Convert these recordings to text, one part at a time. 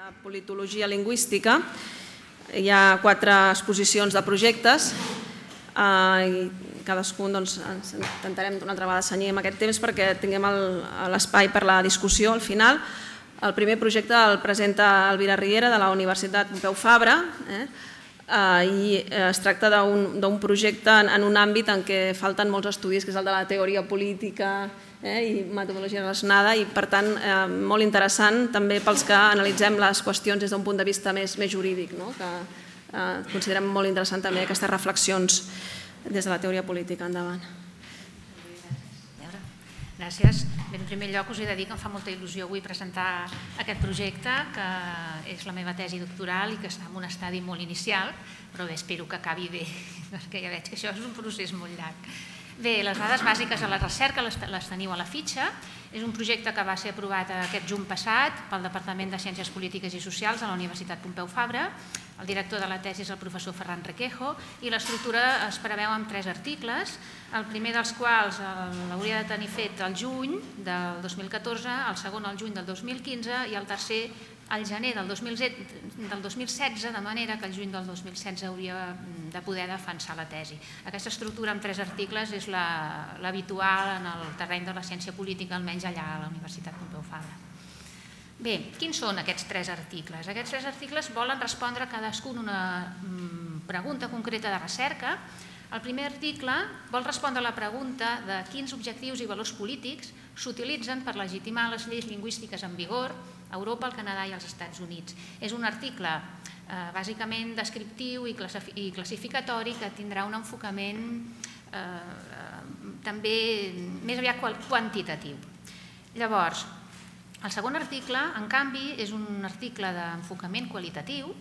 de politologia lingüística. Hi ha 4 exposicions de projectes i cadascun ens intentarem d'una altra vegada cenyir amb aquest temps perquè tinguem l'espai per la discussió al final. El primer projecte el presenta Elvira Riera de la Universitat Pompeu Fabra i es tracta d'un projecte en un àmbit en què falten molts estudis, que és el de la teoria política i metodologia relacionada, i per tant molt interessant també pels que analitzem les qüestions des d'un punt de vista més jurídic, que considerem molt interessant també aquestes reflexions des de la teoria política. Endavant. Gràcies. En primer lloc us he de dir que em fa molta il·lusió avui presentar aquest projecte, que és la meva tesi doctoral i que està en un estadi molt inicial, però bé, espero que acabi bé, perquè ja veig que això és un procés molt llarg. Bé, les dades bàsiques de la recerca les teniu a la fitxa. És un projecte que va ser aprovat aquest juny passat pel Departament de Ciències Polítiques i Socials de la Universitat Pompeu Fabra. El director de la tesi és el professor Ferran Requejo i l'estructura es preveu amb 3 articles, el primer dels quals l'hauria de tenir fet al juny del 2014, el segon al juny del 2015 i el tercer al gener del 2016, de manera que el juny del 2016 hauria de poder defensar la tesi. Aquesta estructura amb 3 articles és l'habitual en el terreny de la ciència política, almenys allà a la Universitat Pompeu Fabra. Bé, quins són aquests 3 articles? Aquests 3 articles volen respondre cadascun una pregunta concreta de recerca. El primer article vol respondre a la pregunta de quins objectius i valors polítics s'utilitzen per legitimar les lleis lingüístiques en vigor a Europa, al Canadà i als Estats Units. És un article bàsicament descriptiu i classificatori que tindrà un enfocament també més aviat quantitatiu. Llavors, el segon article, en canvi, és un article d'enfocament qualitatiu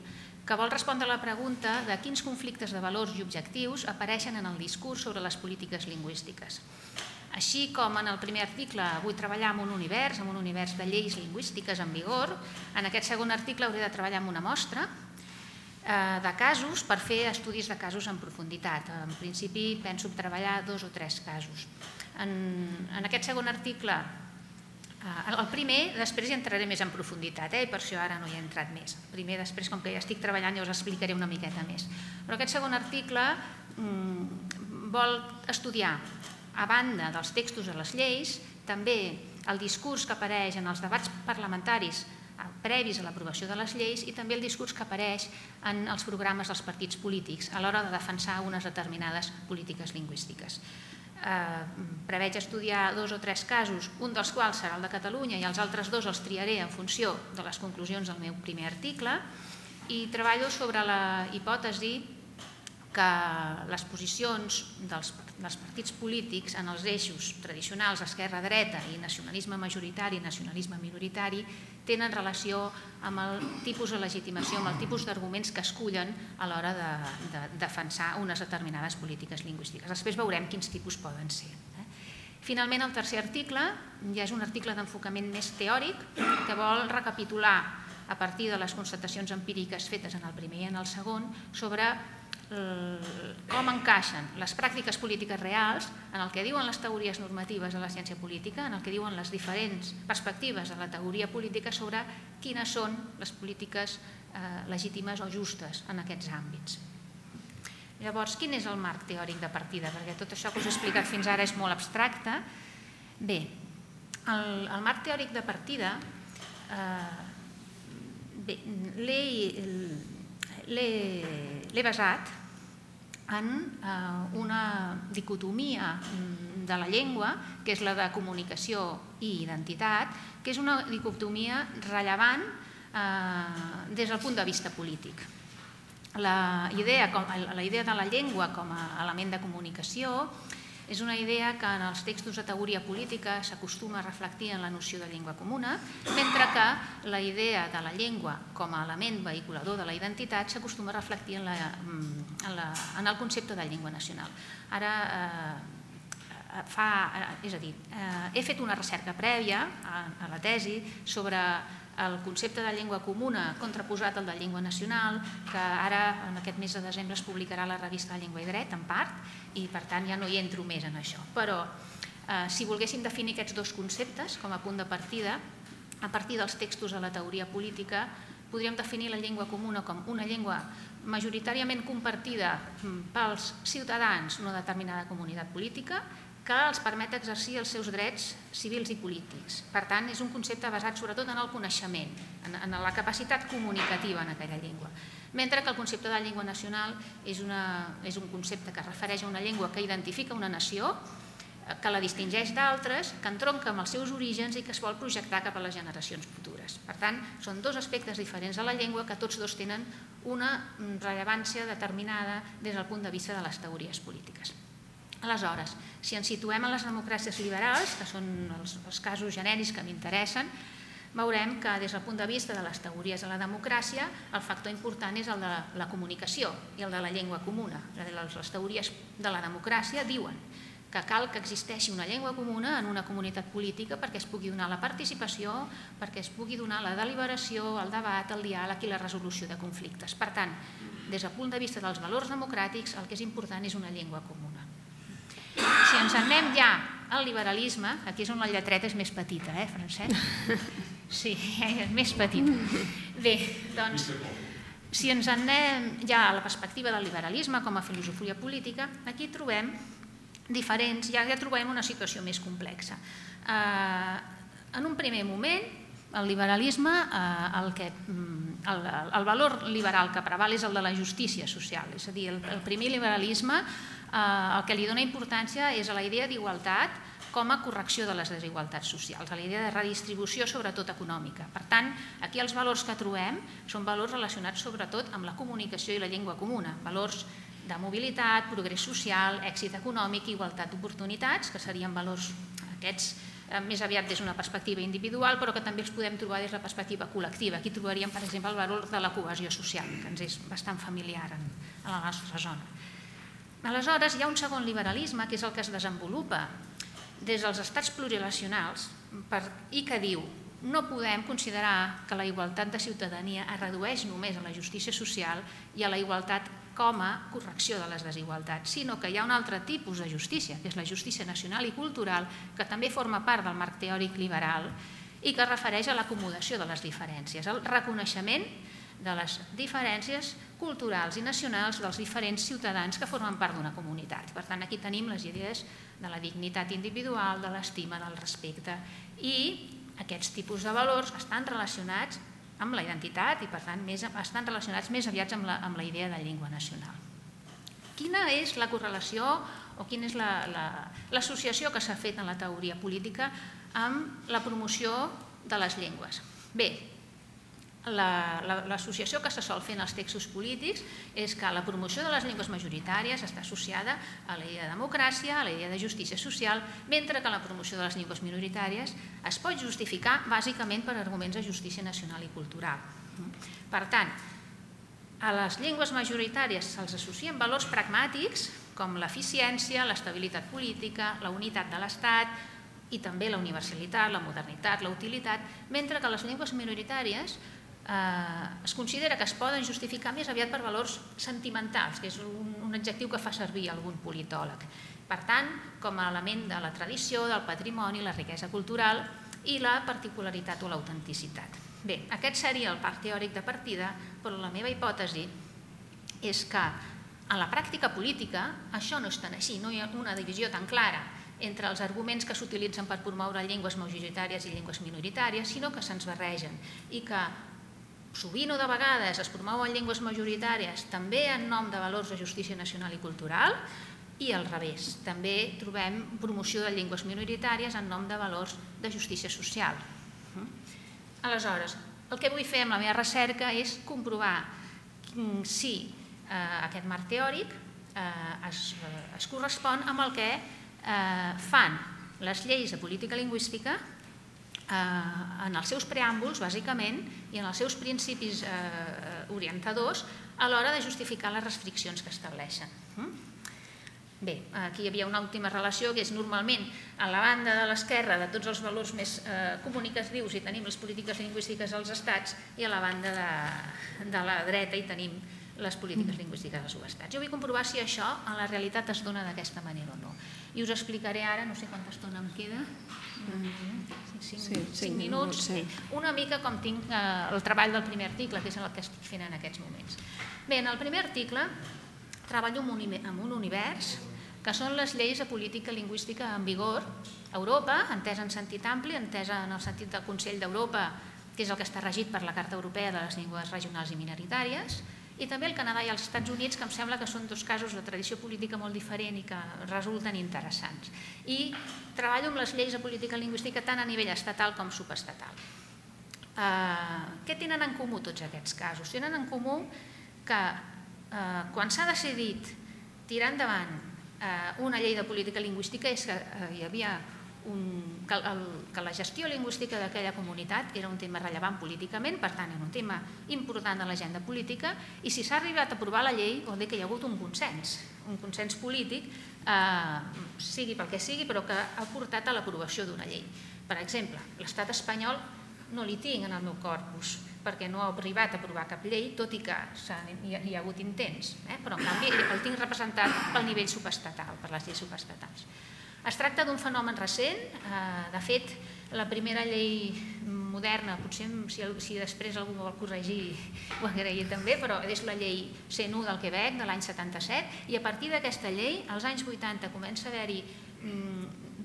que vol respondre a la pregunta de quins conflictes de valors i objectius apareixen en el discurs sobre les polítiques lingüístiques. Així com en el primer article vull treballar en un univers de lleis lingüístiques en vigor, en aquest segon article hauré de treballar amb una mostra de casos per fer estudis de casos en profunditat. En principi penso treballar 2 o 3 casos. En aquest segon article, el primer, després hi entraré més en profunditat i per això ara no hi he entrat més. El primer, després, com que ja estic treballant, ja us explicaré una miqueta més. Però aquest segon article vol estudiar, a banda dels textos de les lleis, també el discurs que apareix en els debats parlamentaris previs a l'aprovació de les lleis i també el discurs que apareix en els programes dels partits polítics a l'hora de defensar unes determinades polítiques lingüístiques. Preveig estudiar 2 o 3 casos, un dels quals serà el de Catalunya i els altres 2 els triaré en funció de les conclusions del meu primer article, i treballo sobre la hipòtesi que les posicions dels partits polítics en els eixos tradicionals esquerra-dreta i nacionalisme majoritari i nacionalisme minoritari tenen relació amb el tipus de legitimació, amb el tipus d'arguments que escullen a l'hora de defensar unes determinades polítiques lingüístiques. Després veurem quins tipus poden ser. Finalment, el tercer article ja és un article d'enfocament més teòric que vol recapitular a partir de les constatacions empíriques fetes en el primer i en el segon sobre com encaixen les pràctiques polítiques reals en el que diuen les teories normatives de la ciència política, en el que diuen les diferents perspectives de la teoria política sobre quines són les polítiques legítimes o justes en aquests àmbits. Llavors, quin és el marc teòric de partida? Perquè tot això que us he explicat fins ara és molt abstracte. Bé, el marc teòric de partida l'he basat en una dicotomia de la llengua, que és la de comunicació i identitat, que és una dicotomia rellevant des del punt de vista polític. La idea de la llengua com a element de comunicació és una idea que en els textos de teoria política s'acostuma a reflectir en la noció de llengua comuna, mentre que la idea de la llengua com a element vehiculador de la identitat s'acostuma a reflectir en el concepte de llengua nacional. He fet una recerca prèvia a la tesi sobre el concepte de llengua comuna contraposat al de llengua nacional, que ara en aquest mes de desembre es publicarà a la revista Llengua i Dret, en part, i per tant ja no hi entro més en això. Però si volguéssim definir aquests 2 conceptes com a punt de partida, a partir dels textos de la teoria política, podríem definir la llengua comuna com una llengua majoritàriament compartida pels ciutadans d'una determinada comunitat política que els permet exercir els seus drets civils i polítics. Per tant, és un concepte basat sobretot en el coneixement, en la capacitat comunicativa en aquella llengua. Mentre que el concepte de llengua nacional és un concepte que es refereix a una llengua que identifica una nació, que la distingeix d'altres, que entronca amb els seus orígens i que es vol projectar cap a les generacions futures. Per tant, són dos aspectes diferents de la llengua que tots dos tenen una rellevància determinada des del punt de vista de les teories polítiques. Aleshores, si ens situem en les democràcies liberals, que són els casos genèrics que m'interessen, veurem que des del punt de vista de les teories de la democràcia el factor important és el de la comunicació i el de la llengua comuna. Les teories de la democràcia diuen que cal que existeixi una llengua comuna en una comunitat política perquè es pugui donar la participació, perquè es pugui donar la deliberació, el debat, el diàleg i la resolució de conflictes. Per tant, des del punt de vista dels valors democràtics, el que és important és una llengua comuna. Si ens anem ja al liberalisme, aquí és on la lletreta és més petita, Francesc? Sí, és més petita. Bé, doncs, si ens anem ja a la perspectiva del liberalisme com a filosofia política, aquí trobem diferents, ja trobem una situació més complexa. En un primer moment, el liberalisme, el valor liberal que preval és el de la justícia social, és a dir, el primer liberalisme el que li dona importància és a la idea d'igualtat com a correcció de les desigualtats socials, a la idea de redistribució sobretot econòmica. Per tant, aquí els valors que trobem són valors relacionats sobretot amb la comunicació i la llengua comuna, valors de mobilitat, progrés social, èxit econòmic i igualtat d'oportunitats, que serien valors aquests més aviat des d'una perspectiva individual, però que també els podem trobar des de la perspectiva col·lectiva. Aquí trobaríem, per exemple, el valor de la cohesió social, que ens és bastant familiar en la nostra zona. Aleshores, hi ha un segon liberalisme, que és el que es desenvolupa des dels estats plurinacionals i que diu no podem considerar que la igualtat de ciutadania es redueix només a la justícia social i a la igualtat com a correcció de les desigualtats, sinó que hi ha un altre tipus de justícia, que és la justícia nacional i cultural, que també forma part del marc teòric liberal i que es refereix a l'acomodació de les diferències, al reconeixement de les diferències culturals i nacionals dels diferents ciutadans que formen part d'una comunitat. Per tant, aquí tenim les idees de la dignitat individual, de l'estima, del respecte, i aquests tipus de valors estan relacionats amb la identitat i, per tant, estan relacionats més aviat amb la idea de llengua nacional. Quina és la correlació o quina és l'associació que s'ha fet en la teoria política amb la promoció de les llengües? Bé, l'associació que se sol fer en els textos polítics és que la promoció de les llengües majoritàries està associada a la idea de democràcia, a la idea de justícia social, mentre que la promoció de les llengües minoritàries es pot justificar bàsicament per arguments de justícia nacional i cultural. Per tant, a les llengües majoritàries se'ls associen valors pragmàtics com l'eficiència, l'estabilitat política, la unitat de l'Estat i també la universalitat, la modernitat, la utilitat, mentre que les llengües minoritàries es considera que es poden justificar més aviat per valors sentimentals, que és un adjectiu que fa servir algun politòleg. Per tant, com a element de la tradició, del patrimoni, la riquesa cultural i la particularitat o l'autenticitat. Bé, aquest seria el marc teòric de partida, però la meva hipòtesi és que en la pràctica política això no és tan així, no hi ha una divisió tan clara entre els arguments que s'utilitzen per promoure llengües majoritàries i llengües minoritàries, sinó que se'ns barregen i que sovint o de vegades es promouen llengües majoritàries també en nom de valors de justícia nacional i cultural i al revés. També trobem promoció de llengües minoritàries en nom de valors de justícia social. Aleshores, el que vull fer amb la meva recerca és comprovar si aquest marc teòric es correspon amb el que fan les lleis de política lingüística en els seus preàmbuls, bàsicament, i en els seus principis orientadors a l'hora de justificar les restriccions que estableixen. Bé, aquí hi havia una última relació que és normalment a la banda de l'esquerra de tots els valors més comunicatius i tenim les polítiques lingüístiques als estats i a la banda de la dreta hi tenim les polítiques lingüístiques dels subestats. Jo vull comprovar si això en la realitat es dona d'aquesta manera o no. I us explicaré ara, no sé quanta estona em queda, 5 minuts, una mica com tinc el treball del primer article, que és el que estic fent en aquests moments. Bé, en el primer article treballo en un univers que són les lleis de política lingüística en vigor a Europa, entesa en sentit ampli, entesa en el sentit del Consell d'Europa, que és el que està regit per la Carta Europea de les Llengües Regionals i Minoritàries, i també el Canadà i els Estats Units, que em sembla que són dos casos de tradició política molt diferent i que resulten interessants. I treballo amb les lleis de política lingüística tant a nivell estatal com subestatal. Què tenen en comú tots aquests casos? Tenen en comú que quan s'ha decidit tirar endavant una llei de política lingüística és que hi havia que la gestió lingüística d'aquella comunitat era un tema rellevant políticament, per tant, era un tema important de l'agenda política, i si s'ha arribat a aprovar la llei, vol dir que hi ha hagut un consens polític, sigui pel que sigui, però que ha portat a l'aprovació d'una llei. Per exemple, l'estat espanyol no li tinc en el meu corpus, perquè no ha arribat a aprovar cap llei, tot i que hi ha hagut intents, però en canvi el tinc representat pel nivell subestatal, per les lleis subestatals. Es tracta d'un fenomen recent, de fet, la primera llei moderna, potser si després algú vol corregir ho agrairé també, però és la llei 101 del Quebec de l'any 77, i a partir d'aquesta llei, als anys 80, comença a haver-hi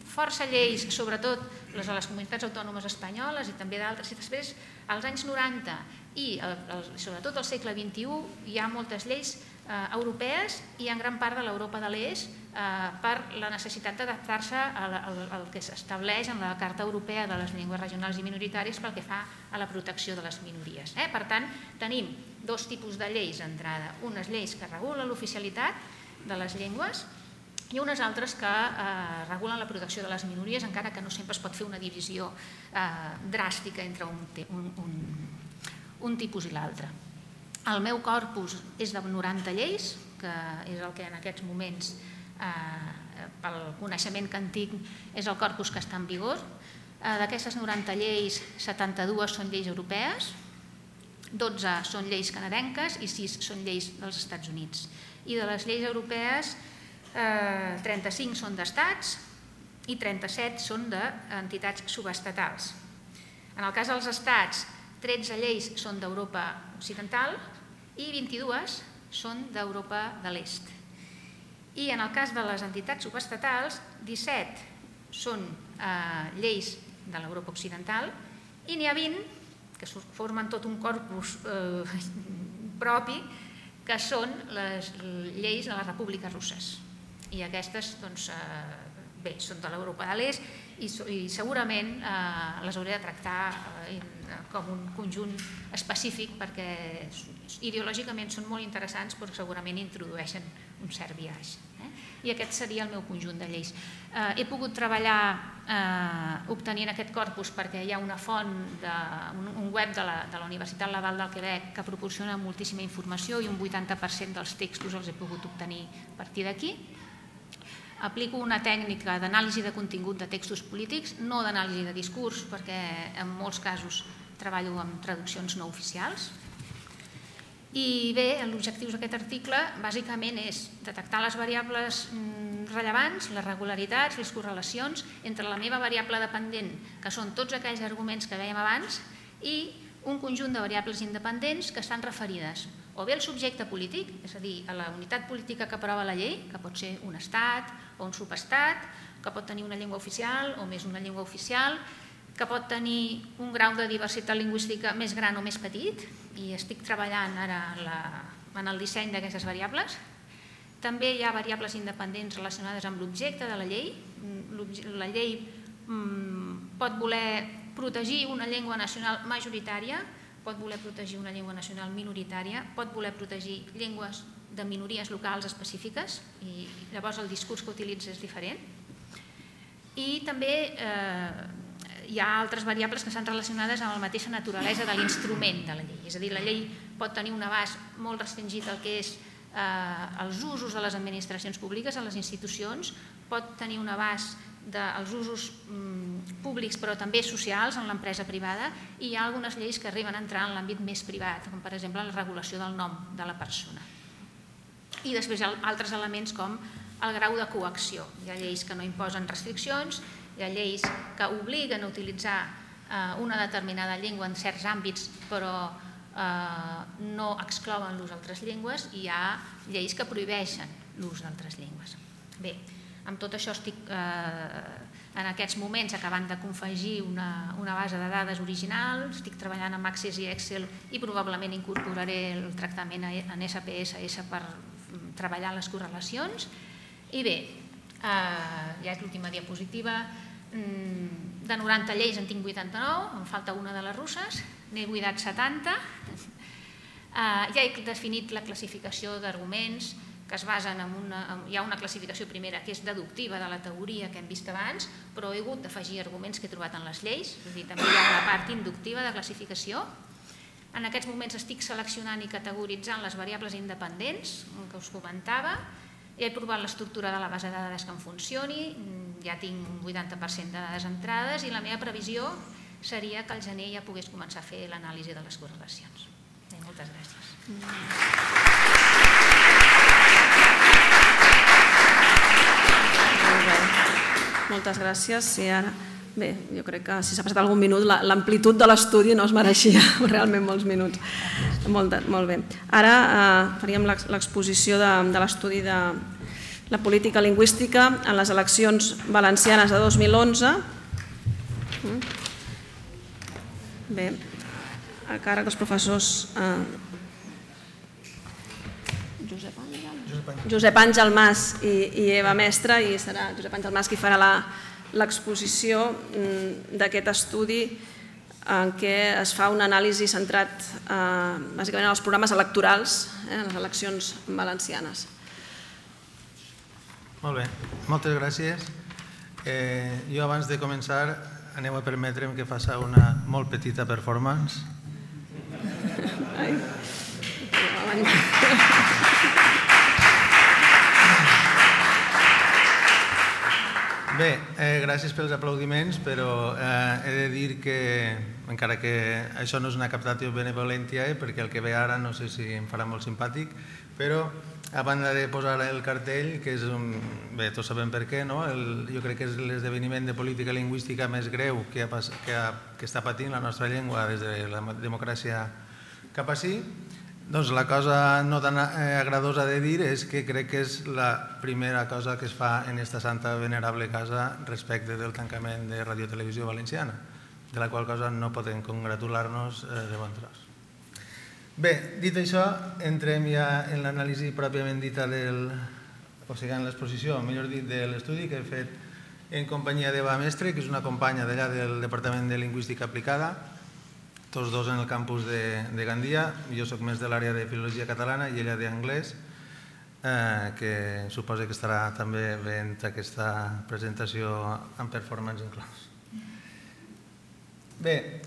força lleis, sobretot les de les comunitats autònomes espanyoles i també d'altres, i després, als anys 90 i sobretot al segle XXI, hi ha moltes lleis europees i en gran part de l'Europa de l'Est per la necessitat d'adaptar-se al que s'estableix en la Carta Europea de les Llengües Regionals i Minoritàries pel que fa a la protecció de les minories. Per tant, tenim dos tipus de lleis d'entrada, unes lleis que regulen l'oficialitat de les llengües i unes altres que regulen la protecció de les minories, encara que no sempre es pot fer una divisió dràstica entre un tipus i l'altre. El meu corpus és de 90 lleis, que és el que en aquests moments, pel coneixement que en tinc, és el corpus que està en vigor. D'aquestes 90 lleis, 72 són lleis europees, 12 són lleis canadenques i 6 són lleis dels Estats Units. I de les lleis europees, 35 són d'estats i 37 són d'entitats subestatals. En el cas dels estats, 13 lleis són d'Europa Occidental i 22 són d'Europa de l'Est. I en el cas de les entitats subestatals, 17 són lleis de l'Europa Occidental i n'hi ha 20 que formen tot un corpus propi, que són les lleis de les repúbliques russes. I aquestes, doncs, bé, són de l'Europa de l'Est i segurament les hauré de tractar com un conjunt específic perquè ideològicament són molt interessants però segurament introdueixen un cert biaix. I aquest seria el meu conjunt de lleis. He pogut treballar obtenint aquest corpus perquè hi ha una font, un web de la Universitat Laval del Quebec que proporciona moltíssima informació i un 80% dels textos els he pogut obtenir a partir d'aquí. Aplico una tècnica d'anàlisi de contingut de textos polítics, no d'anàlisi de discurs, perquè en molts casos treballo amb traduccions no oficials. I bé, l'objectiu d'aquest article bàsicament és detectar les variables rellevants, les regularitats, les correlacions entre la meva variable dependent, que són tots aquells arguments que dèiem abans, i un conjunt de variables independents que estan referides o bé al subjecte polític, és a dir, a la unitat política que aprova la llei, que pot ser un estat o un subestat, que pot tenir una llengua oficial o més una llengua oficial, que pot tenir un grau de diversitat lingüística més gran o més petit, i estic treballant ara en el disseny d'aquestes variables. També hi ha variables independents relacionades amb l'objecte de la llei. La llei pot voler protegir una llengua nacional majoritària, pot voler protegir una llengua nacional minoritària, pot voler protegir llengües de minories locals específiques i llavors el discurs que utilitza és diferent. I també hi ha altres variables que estan relacionades amb la mateixa naturalesa de l'instrument de la llei. És a dir, la llei pot tenir un abast molt restringit al que és els usos de les administracions públiques, a les institucions, pot tenir un abast dels usos públics però també socials en l'empresa privada, i hi ha algunes lleis que arriben a entrar en l'àmbit més privat, com per exemple la regulació del nom de la persona. I després hi ha altres elements com el grau de coacció. Hi ha lleis que no imposen restriccions, hi ha lleis que obliguen a utilitzar una determinada llengua en certs àmbits però no exclouen l'ús d'altres llengües, i hi ha lleis que prohibeixen l'ús d'altres llengües. Bé, amb tot això estic en aquests moments acabant de confegir una base de dades original, estic treballant amb Access i Excel i probablement incorporaré el tractament en SPSS per treballar les correlacions. I bé, ja és l'última diapositiva, de 90 lleis en tinc 89, em falta una de les russes, n'he buidat 70. Ja he definit la classificació d'arguments que es basen en hi ha una classificació primera que és deductiva de la teoria que hem vist abans, però he hagut d'afegir arguments que he trobat en les lleis, és a dir, també hi ha una part inductiva de classificació. En aquests moments estic seleccionant i categoritzant les variables independents que us comentava. Ja he provat l'estructura de la base de dades que em funcioni, ja tinc un 80% de dades entrades i la meva previsió seria que al gener ja pogués començar a fer l'anàlisi de les correlacions. Moltes gràcies. Moltes gràcies. Bé, jo crec que si s'ha passat algun minut, l'amplitud de l'estudi no es mereixia realment molts minuts. Molt bé. Ara faríem l'exposició de l'estudi de la política lingüística en les eleccions valencianes de 2011. Bé, a càrrec dels professors Josep Àngel Mas i Eva Mestre, i serà Josep Àngel Mas qui farà l'exposició d'aquest estudi en què es fa un anàlisi centrat bàsicament en els programes electorals en les eleccions valencianes. Molt bé, moltes gràcies. Jo abans de començar aneu a permetre'm que faci una molt petita performance. Bé, gràcies pels aplaudiments, però he de dir que, encara que això no és una captatio benevolentia, perquè el que ve ara no sé si em farà molt simpàtic, però a banda de posar el cartell, que és bé, tots sabem per què, jo crec que és l'esdeveniment de política lingüística més greu que està patint la nostra llengua des de la democràcia cap ací. Doncs la cosa no tan agradosa de dir és que crec que és la primera cosa que es fa en esta santa venerable casa respecte del tancament de Ràdio Televisió Valenciana, de la qual cosa no podem congratular-nos de bon tros. Bé, dit això, entrem ja en l'anàlisi pròpiament dita o sigui, en l'exposició, millor dit, de l'estudi que he fet en companyia d'Eva Mestre, que és una companya d'allà del Departament de Lingüística Aplicada, tots dos en el campus de Gandia. Jo soc més de l'àrea de Filologia Catalana i ella d'Anglès, que suposa que estarà també veient aquesta presentació amb performance inclòs. Bé,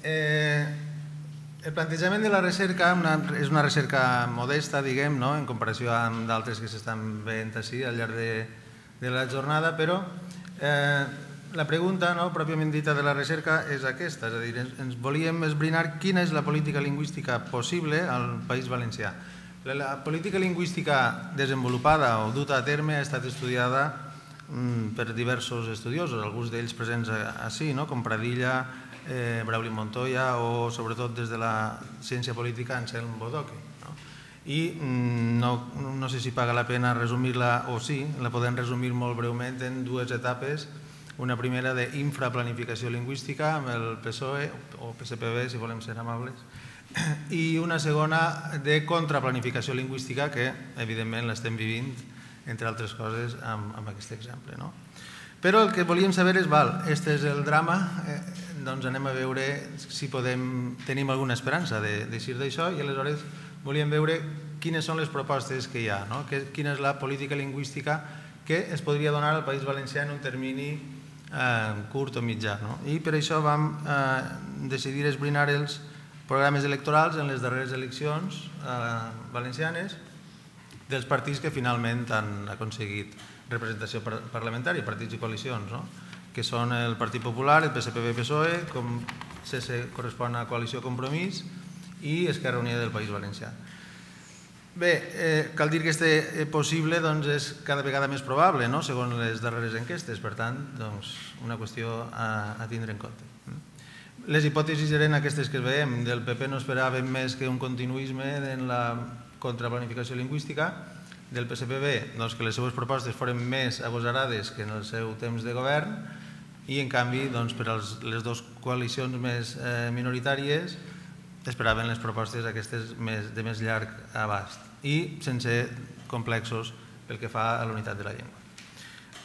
el plantejament de la recerca és una recerca modesta, diguem, en comparació amb d'altres que s'estan veient així al llarg de la jornada, però la pregunta pròpiament dita de la recerca és aquesta, és a dir, ens volíem esbrinar quina és la política lingüística possible al País Valencià. La política lingüística desenvolupada o duta a terme ha estat estudiada per diversos estudiosos, alguns d'ells presents així, com Pradilla, Brauli Montoya o sobretot des de la ciència política Anselm Bodoque. I no sé si paga la pena resumir-la o sí, la podem resumir molt breument en dues etapes. Una primera d'infraplanificació lingüística amb el PSOE o PSPB, si volem ser amables, i una segona de contraplanificació lingüística que, evidentment, l'estem vivint, entre altres coses, amb aquest exemple. Però el que volíem saber és, este és el drama, doncs anem a veure si tenim alguna esperança d'eixir d'això i aleshores volíem veure quines són les propostes que hi ha, quina és la política lingüística que es podria donar al País Valencià en un termini curt o mitjà. I per això vam decidir esbrinar els programes electorals en les darreres eleccions valencianes dels partits que finalment han aconseguit representació parlamentària, partits i coalicions. que són el Partit Popular, el PSPB-PSOE, com CS correspon a Coalició Compromís, i Esquerra Unida del País Valencià. Bé, cal dir que este possible és cada vegada més probable, segons les darreres enquestes, per tant, una qüestió a tindre en compte. Les hipòtesis eren aquestes que veiem. Del PP no esperàvem més que un continuisme en la contraplanificació lingüística, del PSPB que les seues propostes foren més agosarades que en el seu temps de govern, i en canvi per a les dues coalicions més minoritàries esperaven les propostes aquestes de més llarg abast i sense complexos pel que fa a la unitat de la llengua.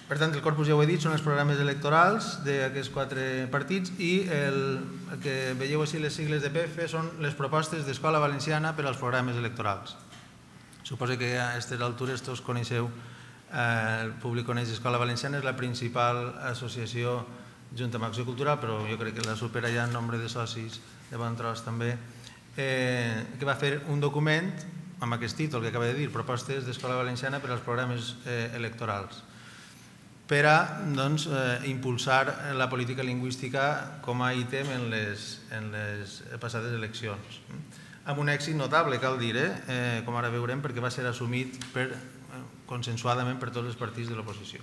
Per tant, el corpus ja ho he dit, són els programes electorals d'aquests 4 partits, i el que veieu així les sigles de PF són les propostes d'Escola Valenciana per als programes electorals. Suposo que a aquestes altures tots coneixeu, el públic coneix Escola Valenciana, és la principal associació junta amb Acció Cultural, però jo crec que la supera ja en nombre de socis de bon tros també, que va fer un document amb aquest títol que acaba de dir, Propostes d'Escola Valenciana per als programes electorals, per a impulsar la política lingüística com a ítem en les passades eleccions. Amb un èxit notable, cal dir, com ara veurem, perquè va ser assumit consensuadament per tots els partits de l'oposició.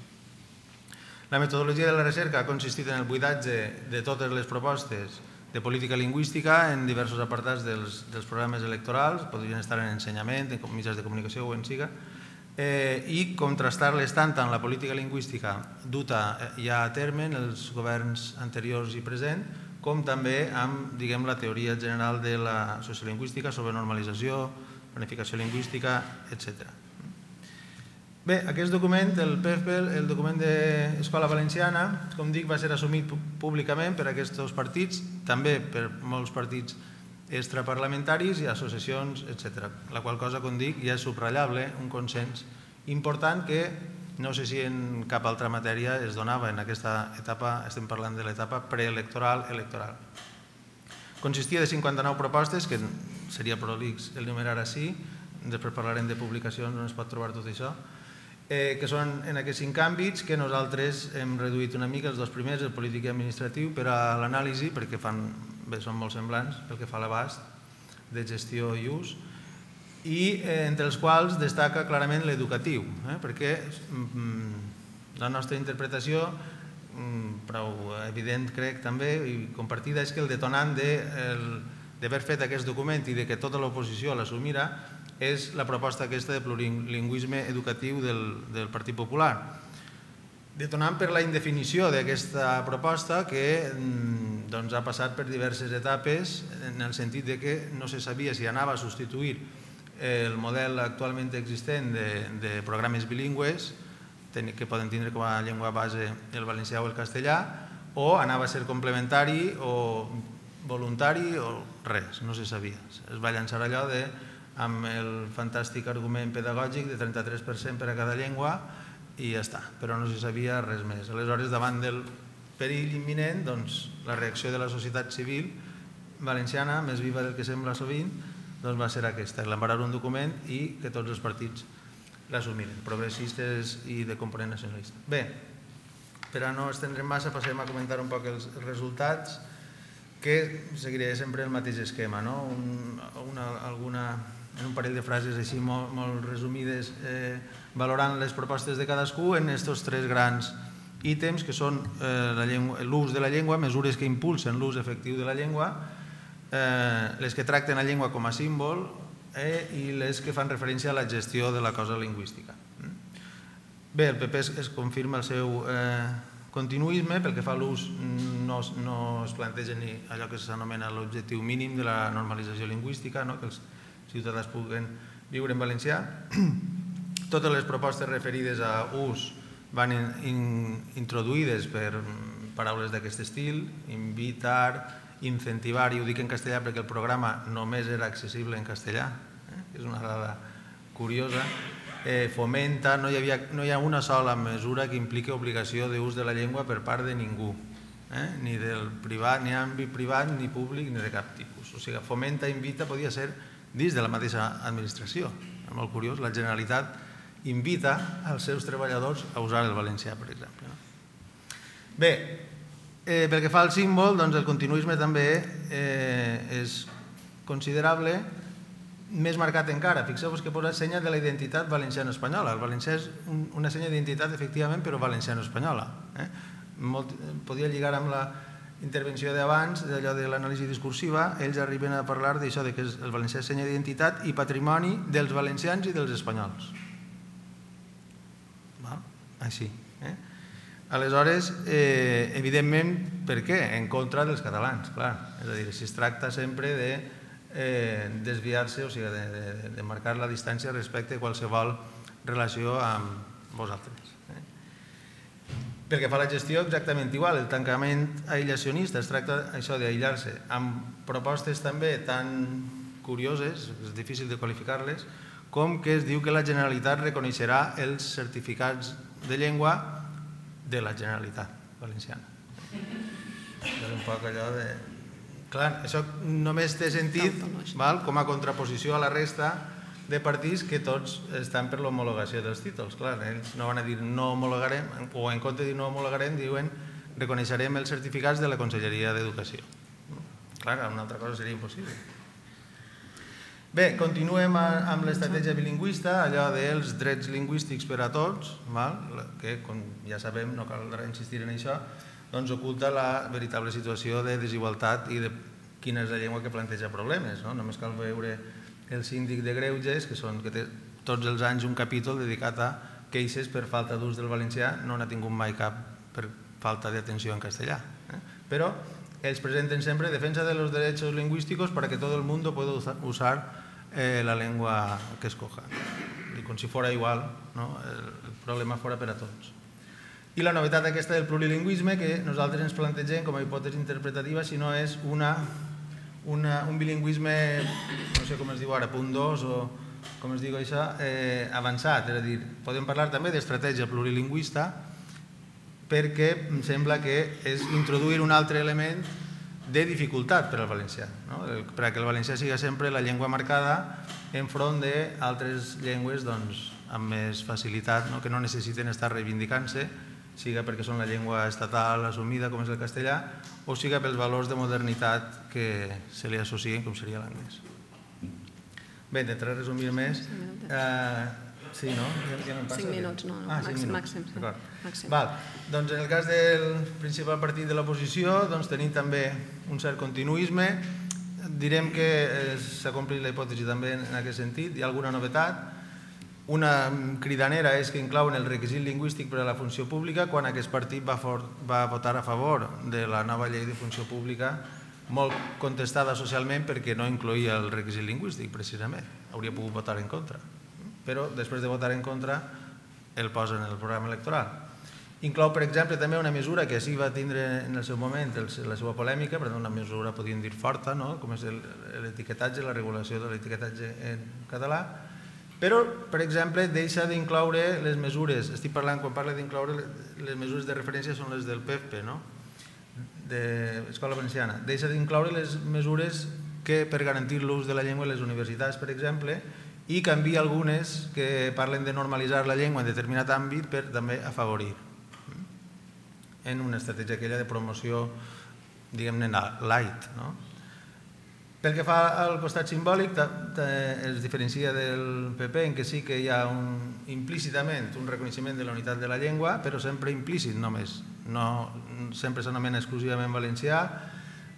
La metodologia de la recerca ha consistit en el buidatge de totes les propostes de política lingüística en diversos apartats dels programes electorals, podrien estar en ensenyament, en mitjans de comunicació o en siga, i contrastar-les tant amb la política lingüística duta ja a terme en els governs anteriors i present, com també amb la teoria general de la sociolingüística sobre normalització, planificació lingüística, etc. Bé, aquest document, el PEFPEL, el document d'Escola Valenciana, com dic, va ser assumit públicament per aquests partits, també per molts partits extraparlamentaris i associacions, etc. La qual cosa, com dic, ja és subratllable, un consens important que no sé si en cap altra matèria es donava en aquesta etapa, estem parlant de l'etapa preelectoral-electoral. Consistia de 59 propostes, que seria prolix el numerar així, després parlarem de publicacions on es pot trobar tot això, que són en aquests 5 àmbits que nosaltres hem reduït una mica, els 2 primers, el polític i administratiu, per a l'anàlisi, perquè són molt semblants pel que fa a l'abast de gestió i ús, i entre els quals destaca clarament l'educatiu, perquè la nostra interpretació, prou evident crec també, i compartida, és que el detonant d'haver fet aquest document i que tota l'oposició l'assumira és la proposta aquesta de plurilingüisme educatiu del Partit Popular. Detonant per la indefinició d'aquesta proposta que ha passat per diverses etapes en el sentit que no se sabia si anava a substituir el model actualment existent de programes bilingües que poden tindre com a llengua base el valencià o el castellà, o anava a ser complementari o voluntari o res, no se sabia. Es va llançar allò amb el fantàstic argument pedagògic de 33% per a cada llengua i ja està, però no se sabia res més. Aleshores, davant del perill imminent, la reacció de la societat civil valenciana, més viva del que sembla sovint, va ser aquesta, elaborar un document i que tots els partits l'assumiren, progressistes i de component nacionalista. Bé, per a no estendre massa, passem a comentar un poc els resultats, que seguiré sempre el mateix esquema, en un parell de frases així molt resumides, valorant les propostes de cadascú en aquests 3 grans ítems, que són l'ús de la llengua, mesures que impulsen l'ús efectiu de la llengua, les que tracten la llengua com a símbol i les que fan referència a la gestió de la cosa lingüística. Bé, el PP es confirma el seu continuisme, pel que fa a l'ús no es planteja ni allò que s'anomena l'objectiu mínim de la normalització lingüística, que els ciutadans puguen viure en valencià. Totes les propostes referides a ús van introduïdes per paraules d'aquest estil, invitar, incentivar, i ho dic en castellà perquè el programa només era accessible en castellà, és una dada curiosa, fomenta, no hi ha una sola mesura que impliqui obligació d'ús de la llengua per part de ningú, ni del privat, ni àmbit privat, ni públic, ni de cap tipus. O sigui, fomenta, invita, podia ser dins de la mateixa administració. És molt curiós, la Generalitat invita als seus treballadors a usar el valencià, per exemple. Bé, pel que fa al símbol, doncs el continuisme també és considerable, més marcat encara. Fixeu-vos que posa senya de la identitat valenciano-espanyola. El valencià és una senya d'identitat, efectivament, però valenciano-espanyola. Podia lligar amb la intervenció d'abans, d'allò de l'anàlisi discursiva, ells arriben a parlar d'això, que el valencià és senya d'identitat i patrimoni dels valencians i dels espanyols. Així. Aleshores, evidentment, per què? En contra dels catalans, clar. És a dir, si es tracta sempre de desviar-se, o sigui, de marcar la distància respecte a qualsevol relació amb vosaltres. Pel que fa a la gestió, exactament igual. El tancament aïllacionista es tracta això d'aïllar-se amb propostes també tan curioses, és difícil de qualificar-les, com que es diu que la Generalitat reconeixerà els certificats de llengua de la Generalitat Valenciana. És un poc allò de... Clar, això només té sentit com a contraposició a la resta de partits que tots estan per l'homologació dels títols. Clar, ells no van a dir no homologarem, o en compte de dir no homologarem, diuen reconeixerem els certificats de la Conselleria d'Educació. Clar, una altra cosa seria impossible. Bé, continuem amb l'estratègia bilingüista, allò dels drets lingüístics per a tots, que, com ja sabem, no caldrà insistir en això, doncs oculta la veritable situació de desigualtat i de quina és la llengua que planteja problemes. Només cal veure el síndic de Greuges, que té tots els anys un capítol dedicat a queixes per falta d'ús del valencià, no n'ha tingut mai cap per falta d'atenció en castellà. Però ells presenten siempre defensa de los derechos lingüísticos para que todo el mundo pueda usar la lengua que escoja. Y com si fuera igual, el problema fora per a tots. I la novetat aquesta del plurilingüisme que nosaltres ens plantegem com a hipòtesi interpretativa, si no és un bilingüisme, no sé com es diu ara, punt 2 o com es diu això, avançat. És a dir, podem parlar també d'estratègia plurilingüista perquè em sembla que és introduir un altre element de dificultat per al valencià, perquè el valencià sigui sempre la llengua marcada enfront d'altres llengües amb més facilitat, que no necessiten estar reivindicant-se, siga perquè són la llengua estatal assumida, com és el castellà, o siga pels valors de modernitat que se li associen, com seria l'anglès. Bé, intentaré resumir més. Sí, no? 5 minuts, no, màxim. Doncs en el cas del principal partit de l'oposició tenim també un cert continuisme. Direm que s'ha complit la hipòtesi també en aquest sentit. Hi ha alguna novetat. Una cridanera és que inclouen el requisit lingüístic per a la funció pública quan aquest partit va votar a favor de la nova llei de funció pública, molt contestada socialment perquè no incloïa el requisit lingüístic, precisament. Hauria pogut votar en contra. Però després de votar en contra el posa en el programa electoral. Inclou, per exemple, també una mesura que sí va tindre en el seu moment la seva polèmica, però una mesura, podríem dir, forta, com és l'etiquetatge, la regulació de l'etiquetatge en català, però, per exemple, deixa d'incloure les mesures, estic parlant, quan parla d'incloure les mesures de referència són les del PFP, d'Escola Valenciana, deixa d'incloure les mesures que per garantir l'ús de la llengua a les universitats, per exemple, i canvia algunes que parlen de normalitzar la llengua en determinat àmbit per també afavorir en una estratègia aquella de promoció, diguem-ne, light. Pel que fa al costat simbòlic, es diferencia del PP en que sí que hi ha implícitament un reconeixement de la unitat de la llengua, però sempre implícit només, no sempre s'anomena exclusivament valencià.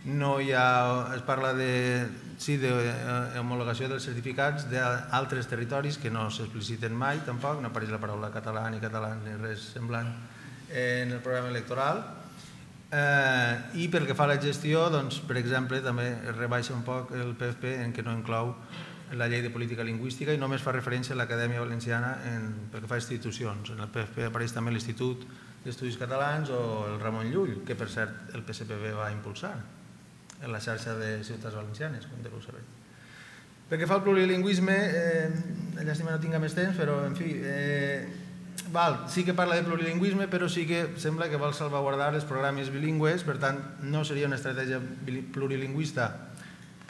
No hi ha, es parla d'homologació dels certificats d'altres territoris que no s'expliciten mai tampoc, no apareix la paraula català ni res semblant en el programa electoral. I pel que fa a la gestió, per exemple, també es rebaixa un poc el PFP en què no inclou la llei de política lingüística i només fa referència a l'Acadèmia Valenciana pel que fa a institucions. En el PFP apareix també l'Institut d'Estudis Catalans o el Ramon Llull, que per cert el PSPV va impulsar en la xarxa de ciutats valencianes, com deveu saber. Pel que fa al plurilingüisme, llàstima no tinc més temps, però en fi, sí que parla de plurilingüisme, però sí que sembla que vol salvaguardar els programes bilingües, per tant, no seria una estratègia plurilingüista,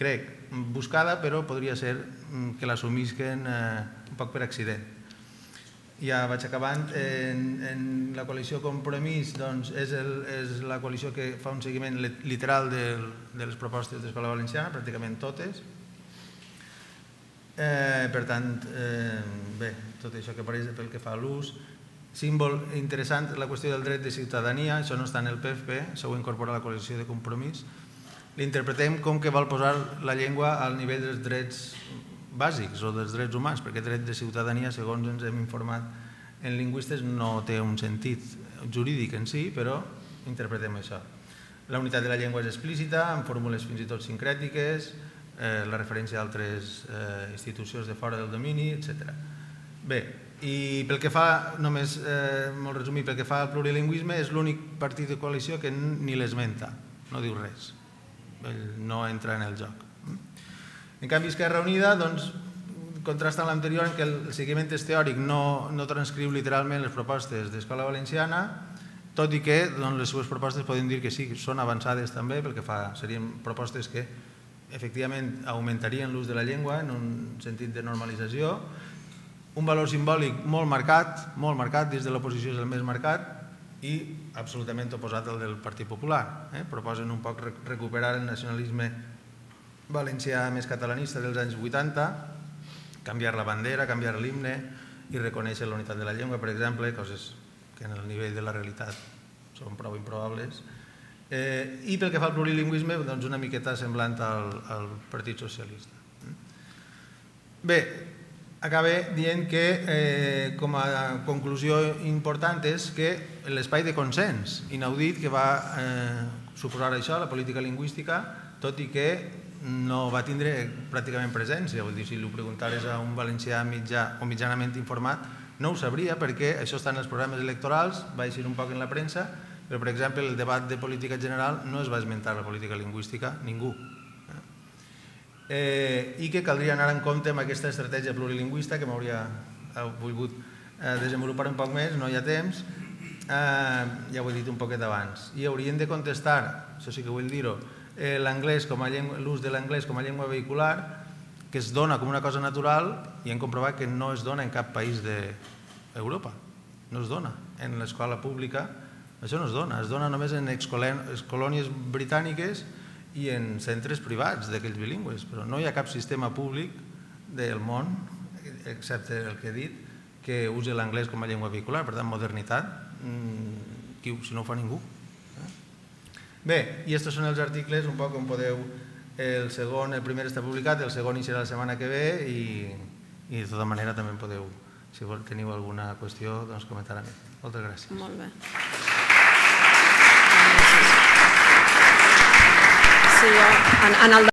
crec, buscada, però podria ser que l'assumisquen un poc per accident. ja vaig acabant. En la coalició Compromís és la coalició que fa un seguiment literal de les propostes d'Escola Valenciana, pràcticament totes. Per tant, bé, tot això que apareix pel que fa a l'ús. Símbol interessant, la qüestió del dret de ciutadania, això no està en el PFP, això ho incorpora la coalició de Compromís. L'interpretem com que vol posar la llengua al nivell dels drets bàsics o dels drets humans, perquè dret de ciutadania, segons ens hem informat en lingüistes, no té un sentit jurídic en si, però interpretem això. La unitat de la llengua és explícita, amb fórmules fins i tot sincrètiques, la referència a altres institucions de fora del domini, etc. Bé, i pel que fa, només molt resumit, pel que fa al plurilingüisme, és l'únic partit de coalició que ni l'esmenta, no diu res, no entra en el joc. En canvi, Esquerra Unida contrasta amb l'anterior en què el seguiment és teòric, no transcriu literalment les propostes d'Escola Valenciana, tot i que les seves propostes podem dir que sí, són avançades també, pel que fa, serien propostes que efectivament augmentarien l'ús de la llengua en un sentit de normalització. Un valor simbòlic molt marcat, dins de l'oposició és el més marcat i absolutament oposat al del Partit Popular. Proposen un poc recuperar el nacionalisme valencià més catalanista dels anys 80, canviar la bandera, canviar l'himne i reconèixer la unitat de la llengua, per exemple, coses que en el nivell de la realitat són prou improbables. I pel que fa al plurilingüisme, una miqueta semblant al Partit Socialista. Bé, acabe dient que com a conclusió important és que l'espai de consens inaudit que va suposar això, la política lingüística, tot i que no va tindre pràcticament presència. Vull dir, si li preguntares a un valencià mitjà o mitjanament informat, no ho sabria perquè això està en els programes electorals, va eixir un poc en la premsa, però, per exemple, el debat de política general no es va esmentar la política lingüística, ningú. I que caldria anar en compte amb aquesta estratègia plurilingüista que m'hauria volgut desenvolupar un poc més, no hi ha temps, ja ho he dit un poquet abans. I haurien de contestar, això sí que vull dir-ho, l'ús de l'anglès com a llengua vehicular, que es dona com una cosa natural i hem comprovat que no es dona en cap país d'Europa. No es dona. En l'escola pública això no es dona només en excolònies britàniques i en centres privats d'aquells bilingües, però no hi ha cap sistema públic del món, excepte el que he dit, que usi l'anglès com a llengua vehicular. Per tant, modernitat, si no ho fa ningú. Bé, i aquests són els articles, un poc on podeu... El primer està publicat, el segon hi serà la setmana que ve i de tota manera també podeu, si teniu alguna qüestió, doncs comentar-me. Moltes gràcies. Molt bé. En el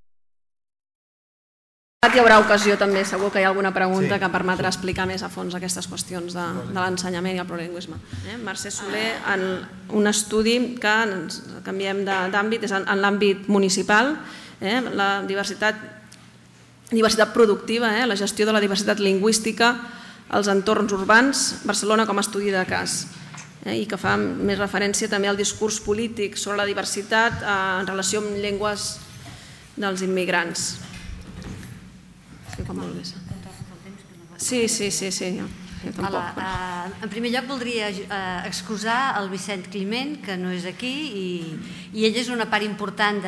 debat hi haurà ocasió també, segur que hi ha alguna pregunta que permetrà explicar més a fons aquestes qüestions de l'ensenyament i el plurilingüisme. Mercè Soler, en un estudi que ens canviem d'àmbit, és en l'àmbit municipal, la diversitat productiva, la gestió de la diversitat lingüística als entorns urbans, Barcelona com a estudi de cas, i que fa més referència també al discurs polític sobre la diversitat en relació amb llengües dels immigrants. Sí. En primer lloc voldria excusar el Vicent Climent, que no és aquí, i ell és una part important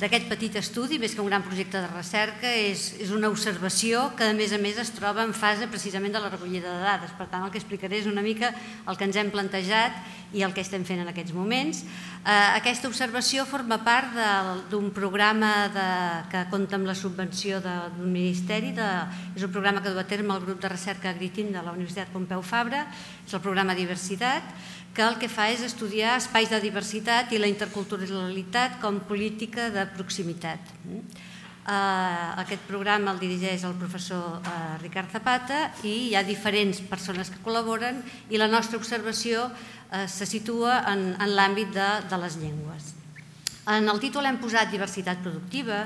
d'aquest petit estudi, més que un gran projecte de recerca, és una observació que a més es troba en fase precisament de la recollida de dades. Per tant, el que explicaré és una mica el que ens hem plantejat i el que estem fent en aquests moments. Aquesta observació forma part d'un programa que compta amb la subvenció d'un ministeri, és un programa que du a terme el grup de recerca Agritim de la Universitat Pompeu Fabra, és el programa Diversitat, que el que fa és estudiar espais de diversitat i la interculturalitat com política de proximitat. Aquest programa el dirigeix el professor Ricard Zapata i hi ha diferents persones que col·laboren i la nostra observació se situa en l'àmbit de les llengües. En el títol hem posat diversitat productiva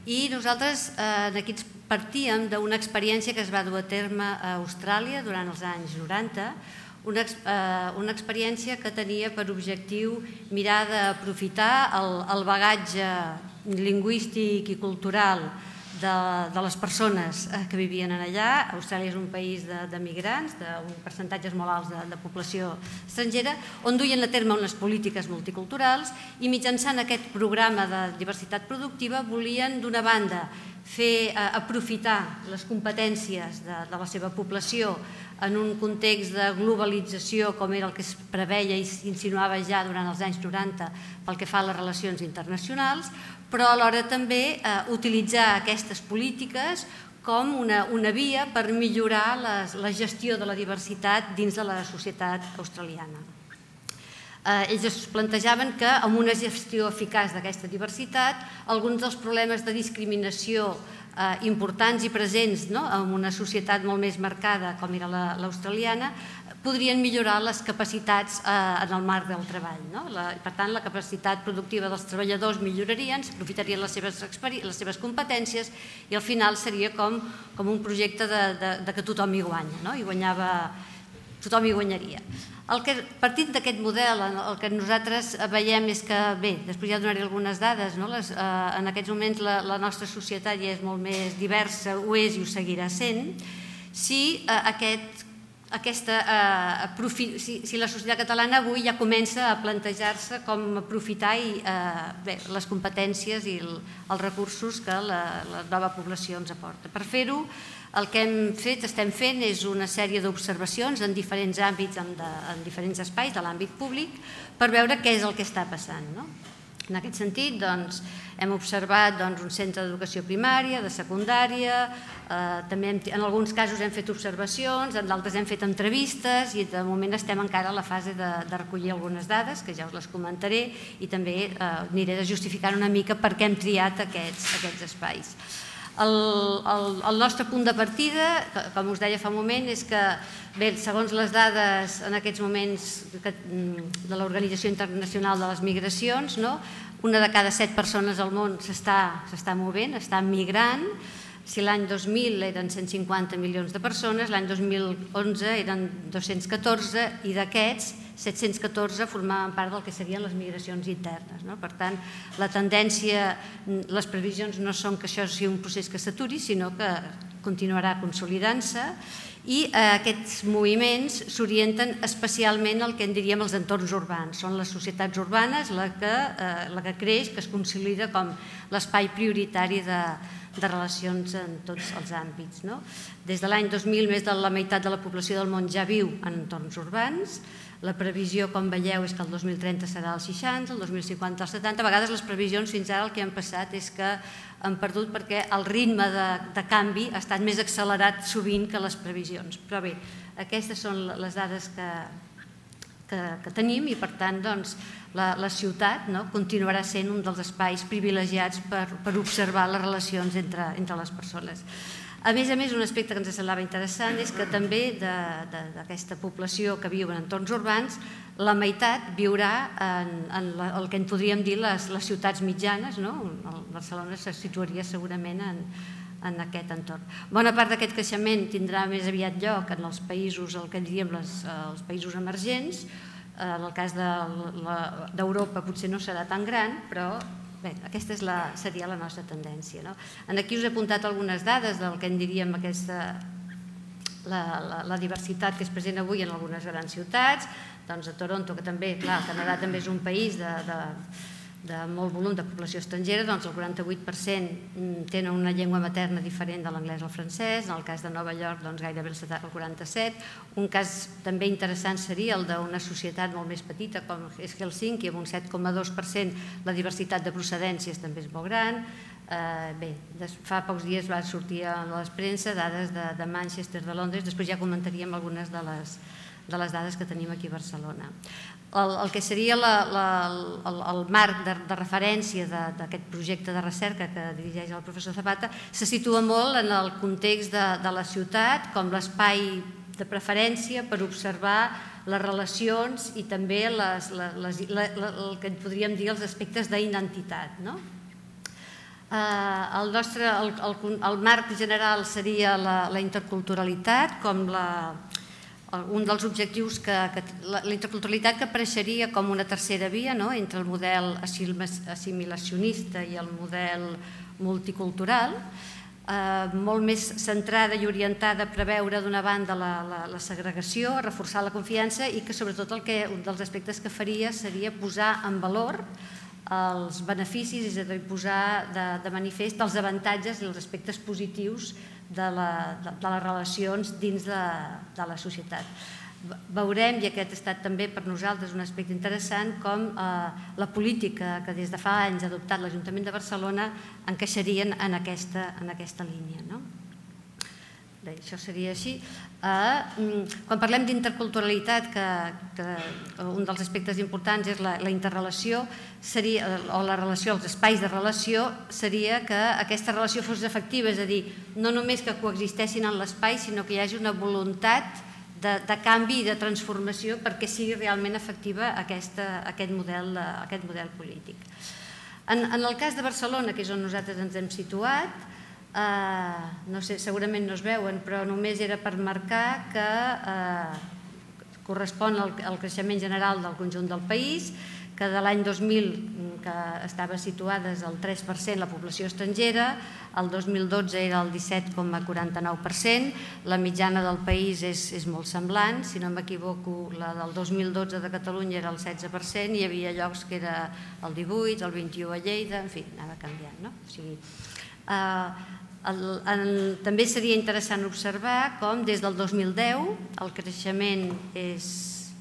i nosaltres aquí partíem d'una experiència que es va dur a terme a Austràlia durant els anys 90, una experiència que tenia per objectiu mirar d'aprofitar el bagatge lingüístic i cultural de les persones que vivien allà. Austràlia és un país de migrants, d'un percentatges molt alts de població estrangera, on duien a terme unes polítiques multiculturals i mitjançant aquest programa de diversitat productiva volien, d'una banda, aprofitar les competències de la seva població en un context de globalització com era el que es preveia i s'insinuava ja durant els anys 90 pel que fa a les relacions internacionals, però alhora també utilitzar aquestes polítiques com una via per millorar la gestió de la diversitat dins de la societat australiana. Ells es plantejaven que amb una gestió eficaç d'aquesta diversitat alguns dels problemes de discriminació importants i presents en una societat molt més marcada com era l'australiana podrien millorar les capacitats en el marc del treball. Per tant, la capacitat productiva dels treballadors millorarien, s'aprofitarien les seves competències i al final seria com un projecte que tothom hi guanya, i tothom hi guanyaria. Partint d'aquest model, el que nosaltres veiem és que, bé, després ja donaré algunes dades, en aquests moments la nostra societat ja és molt més diversa, ho és i ho seguirà sent, si la societat catalana avui ja comença a plantejar-se com aprofitar les competències i els recursos que la nova població ens aporta. Per fer-ho, el que estem fent és una sèrie d'observacions en diferents àmbits, en diferents espais de l'àmbit públic, per veure què és el que està passant. En aquest sentit, hem observat un centre d'educació primària, de secundària, també en alguns casos hem fet observacions, en d'altres hem fet entrevistes i de moment estem encara a la fase de recollir algunes dades, que ja us les comentaré, i també aniré justificant una mica per què hem triat aquests espais. El nostre punt de partida, com us deia fa un moment, és que, segons les dades en aquests moments de l'Organització Internacional de les Migracions, una de cada 7 persones al món s'està movent, està migrant. Si l'any 2000 eren 150 milions de persones, l'any 2011 eren 214 i d'aquests 714 formaven part del que serien les migracions internes. Per tant, la tendència, les previsions no són que això sigui un procés que s'aturi, sinó que continuarà consolidant-se i aquests moviments s'orienten especialment al que en diríem els entorns urbans. Són les societats urbanes la que creix, que es consolida com l'espai prioritari de relacions en tots els àmbits. Des de l'any 2000, més de la meitat de la població del món ja viu en entorns urbans. La previsió, com veieu, és que el 2030 serà el 60, el 2050 el 70. A vegades les previsions fins ara el que han passat és que han perdut perquè el ritme de canvi ha estat més accelerat sovint que les previsions. Però bé, aquestes són les dades que tenim i, per tant, la ciutat continuarà sent un dels espais privilegiats per observar les relacions entre les persones. A més, un aspecte que ens semblava interessant és que també d'aquesta població que viu en entorns urbans, la meitat viurà en el que en podríem dir les ciutats mitjanes. Barcelona se situaria segurament en aquest entorn. Bona part d'aquest creixement tindrà més aviat lloc en els països, el que diríem els països emergents. En el cas d'Europa potser no serà tan gran, però bé, aquesta seria la nostra tendència. Aquí us he apuntat algunes dades del que en diríem la diversitat que és present avui en algunes grans ciutats. A Toronto, que també, clar, el Canadà també és un país de molt volum de població estrangera, el 48% tenen una llengua materna diferent de l'anglès o el francès. En el cas de Nova York, gairebé el 47%. Un cas també interessant seria el d'una societat molt més petita, com és Helsinki, amb un 7,2%. La diversitat de procedències també és molt gran. Bé, fa pocs dies va sortir a la premsa dades de Manchester, de Londres. Després ja comentaríem algunes de les dades que tenim aquí a Barcelona. El que seria el marc de referència d'aquest projecte de recerca que dirigeix el professor Zapata se situa molt en el context de la ciutat com l'espai de preferència per observar les relacions i també el que podríem dir els aspectes d'identitat. El marc general seria la interculturalitat com un dels objectius, la interculturalitat que apareixeria com una tercera via entre el model assimilacionista i el model multicultural. molt més centrada i orientada a preveure d'una banda la segregació, a reforçar la confiança i que sobretot un dels aspectes que faria seria posar en valor els beneficis, és a dir, posar de manifest els avantatges i els aspectes positius de les relacions dins de la societat. Veurem, i aquest ha estat també per nosaltres un aspecte interessant, com la política que des de fa anys ha adoptat l'Ajuntament de Barcelona encaixarien en aquesta línia. Bé, això seria així. Quan parlem d'interculturalitat, que un dels aspectes importants és la interrelació, o la relació, els espais de relació, seria que aquesta relació fos efectiva, és a dir, no només que coexisteixin en l'espai, sinó que hi hagi una voluntat de canvi i de transformació perquè sigui realment efectiva aquest model polític. En el cas de Barcelona, que és on nosaltres ens hem situat, no sé, segurament no es veuen, però només era per marcar que correspon al creixement general del conjunt del país, que de l'any 2000, que estava situada al 3% la població estrangera, el 2012 era el 17,49%, la mitjana del país és molt semblant, si no m'equivoco, la del 2012 de Catalunya era el 16%, hi havia llocs que era el 18%, el 21% a Lleida, en fi, anava canviant, no? O sigui, també seria interessant observar com des del 2010 el creixement és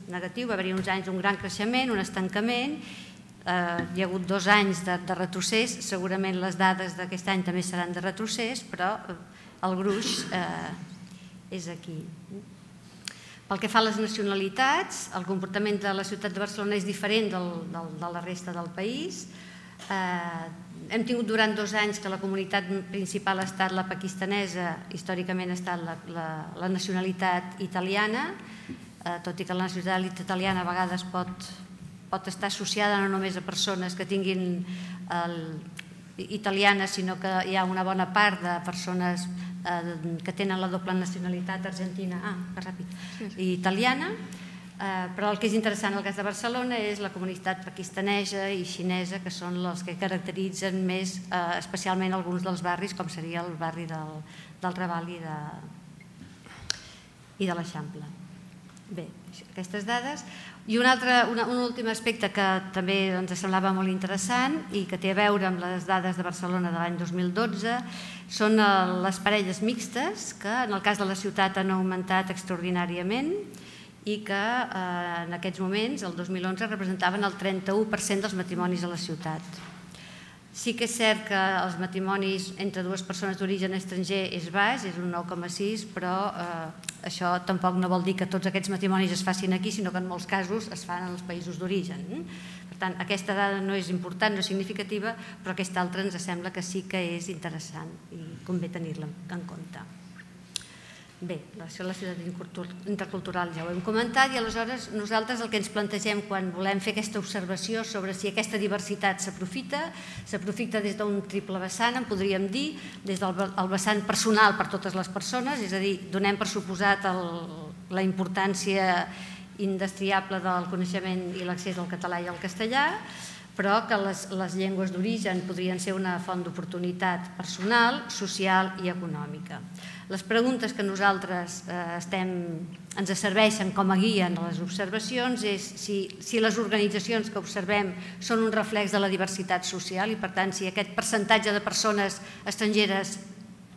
negatiu, va haver-hi uns anys d'un gran creixement, un estancament, hi ha hagut 2 anys de retrocés, segurament les dades d'aquest any també seran de retrocés, però el gruix és aquí. Pel que fa a les nacionalitats, el comportament de la ciutat de Barcelona és diferent de la resta del país. Hem tingut durant 2 anys que la comunitat principal ha estat la pakistanesa, històricament ha estat la nacionalitat italiana, tot i que la nacionalitat italiana a vegades pot estar associada no només a persones que tinguin italianes, sinó que hi ha una bona part de persones que tenen la doble nacionalitat argentina i italiana, però el que és interessant al cas de Barcelona és la comunitat pakistanesa i xinesa, que són els que caracteritzen més especialment alguns dels barris, com seria el barri del Raval i de l'Eixample. Bé, aquestes dades. I un últim aspecte que també ens semblava molt interessant i que té a veure amb les dades de Barcelona de l'any 2012 són les parelles mixtes, que en el cas de la ciutat han augmentat extraordinàriament i que en aquests moments, el 2011, representaven el 31% dels matrimonis a la ciutat. Sí que és cert que els matrimonis entre 2 persones d'origen estranger és baix, és un 9,6, però això tampoc no vol dir que tots aquests matrimonis es facin aquí, sinó que en molts casos es fan en els països d'origen. Per tant, aquesta dada no és important, no és significativa, però aquesta altra ens sembla que sí que és interessant i convé tenir-la en compte. Bé, això de la ciutat intercultural ja ho hem comentat i aleshores nosaltres el que ens plantegem quan volem fer aquesta observació sobre si aquesta diversitat s'aprofita des d'un triple vessant, en podríem dir, des del vessant personal per totes les persones, és a dir, donem per suposat la importància indestriable del coneixement i l'accés al català i al castellà, però que les llengües d'origen podrien ser una font d'oportunitat personal, social i econòmica. Les preguntes que nosaltres ens serveixen com a guia en les observacions és si les organitzacions que observem són un reflex de la diversitat social i, per tant, si aquest percentatge de persones estrangeres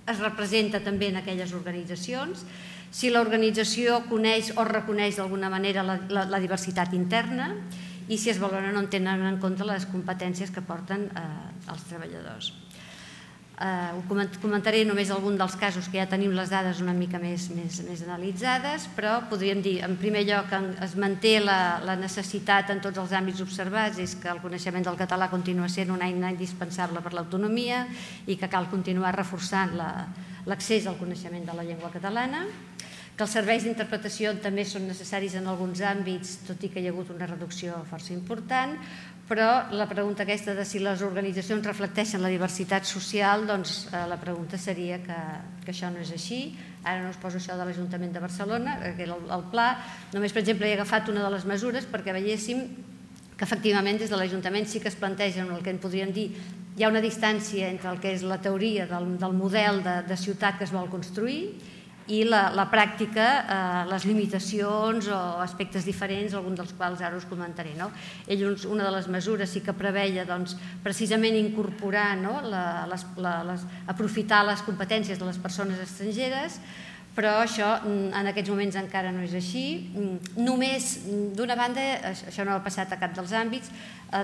es representa també en aquelles organitzacions, si l'organització coneix o reconeix d'alguna manera la diversitat interna i si es valoren o no tenen en compte les competències que porten els treballadors. Comentaré només algun dels casos que ja tenim les dades una mica més analitzades, però podríem dir, en primer lloc, que es manté la necessitat en tots els àmbits observats, és que el coneixement del català continua sent una eina indispensable per l'autonomia i que cal continuar reforçant l'accés al coneixement de la llengua catalana, que els serveis d'interpretació també són necessaris en alguns àmbits, tot i que hi ha hagut una reducció força important, però la pregunta aquesta de si les organitzacions reflecteixen la diversitat social, doncs la pregunta seria que això no és així. Ara no us poso això de l'Ajuntament de Barcelona, que era el pla. Només, per exemple, he agafat una de les mesures perquè veiéssim que efectivament des de l'Ajuntament sí que es plantegen el que en podríem dir, hi ha una distància entre el que és la teoria del model de ciutat que es vol construir i la pràctica, les limitacions o aspectes diferents, alguns dels quals ara us comentaré. Una de les mesures sí que preveia precisament incorporar, aprofitar les competències de les persones estrangeres, però això en aquests moments encara no és així. Només, d'una banda, això no ha passat a cap dels àmbits,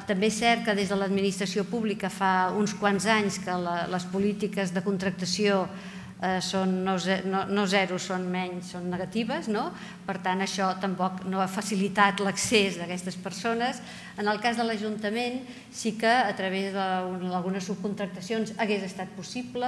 també és cert que des de l'administració pública fa uns quants anys que les polítiques de contractació són no zero, són menys, són negatives, per tant això tampoc no ha facilitat l'accés d'aquestes persones. En el cas de l'Ajuntament sí que a través d'algunes subcontractacions hagués estat possible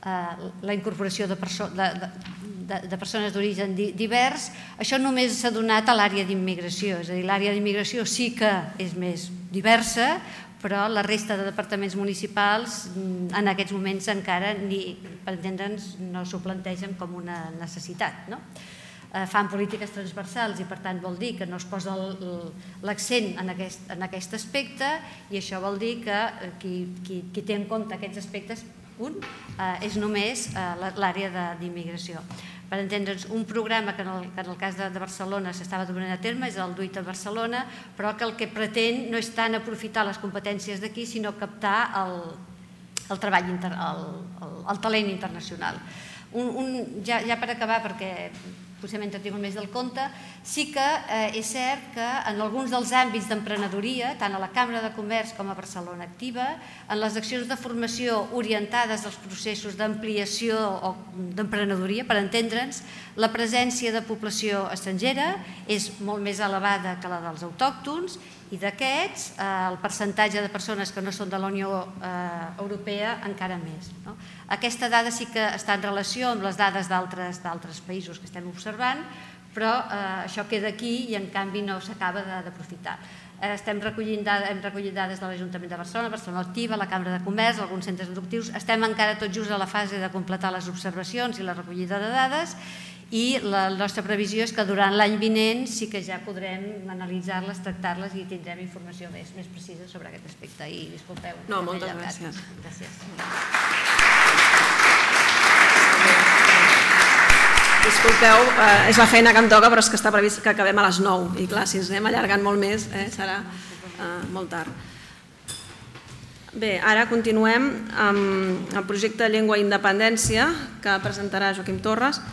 la incorporació de persones d'origen divers. Això només s'ha donat a l'àrea d'immigració, és a dir, l'àrea d'immigració sí que és més diversa, però la resta de departaments municipals en aquests moments encara, per entendre'ns, no s'ho plantegen com una necessitat. Fan polítiques transversals i per tant vol dir que no es posa l'accent en aquest aspecte i això vol dir que qui té en compte aquests aspectes és només l'àrea d'immigració. Per entendre'ns, un programa que en el cas de Barcelona s'estava duent a terme és el DUIT a Barcelona, però que el que pretén no és tant aprofitar les competències d'aquí, sinó captar el talent internacional. Ja per acabar, perquè potser m'he entretingut més del compte, sí que és cert que en alguns dels àmbits d'emprenedoria, tant a la Cambra de Comerç com a Barcelona Activa, en les accions de formació orientades als processos d'ampliació o d'emprenedoria, per entendre'ns, la presència de població estrangera és molt més elevada que la dels autòctons i d'aquests el percentatge de persones que no són de la Unió Europea encara més. Aquesta dada sí que està en relació amb les dades d'altres països que estem observant, però això queda aquí i en canvi no s'acaba d'aprofitar. Hem recollit dades de l'Ajuntament de Barcelona, Barcelona Activa, la Cambra de Comerç, alguns centres educatius. Estem encara tot just a la fase de completar les observacions i la recollida de dades i la nostra previsió és que durant l'any vinent sí que ja podrem analitzar-les, tractar-les i tindrem informació més precisa sobre aquest aspecte. I disculpeu. No, moltes gràcies. Disculpeu, és la feina que em toca, però és que està previst que acabem a les 9 i clar, si ens anem allargant molt més serà molt tard. Bé, ara continuem amb el projecte Llengua i Independència que presentarà Joaquim Torres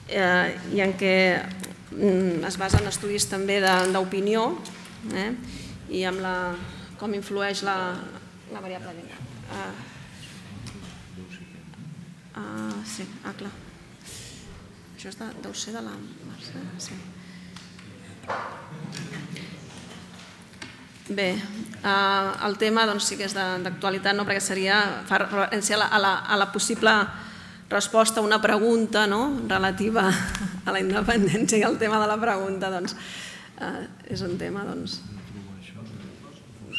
i en què es basa en estudis també d'opinió i amb com influeix la variable llengua. Sí, clar. Això deu ser de la Mercè? Sí. Bé, el tema sí que és d'actualitat, perquè fa referència a la possible resposta a una pregunta relativa a la independència i el tema de la pregunta és un tema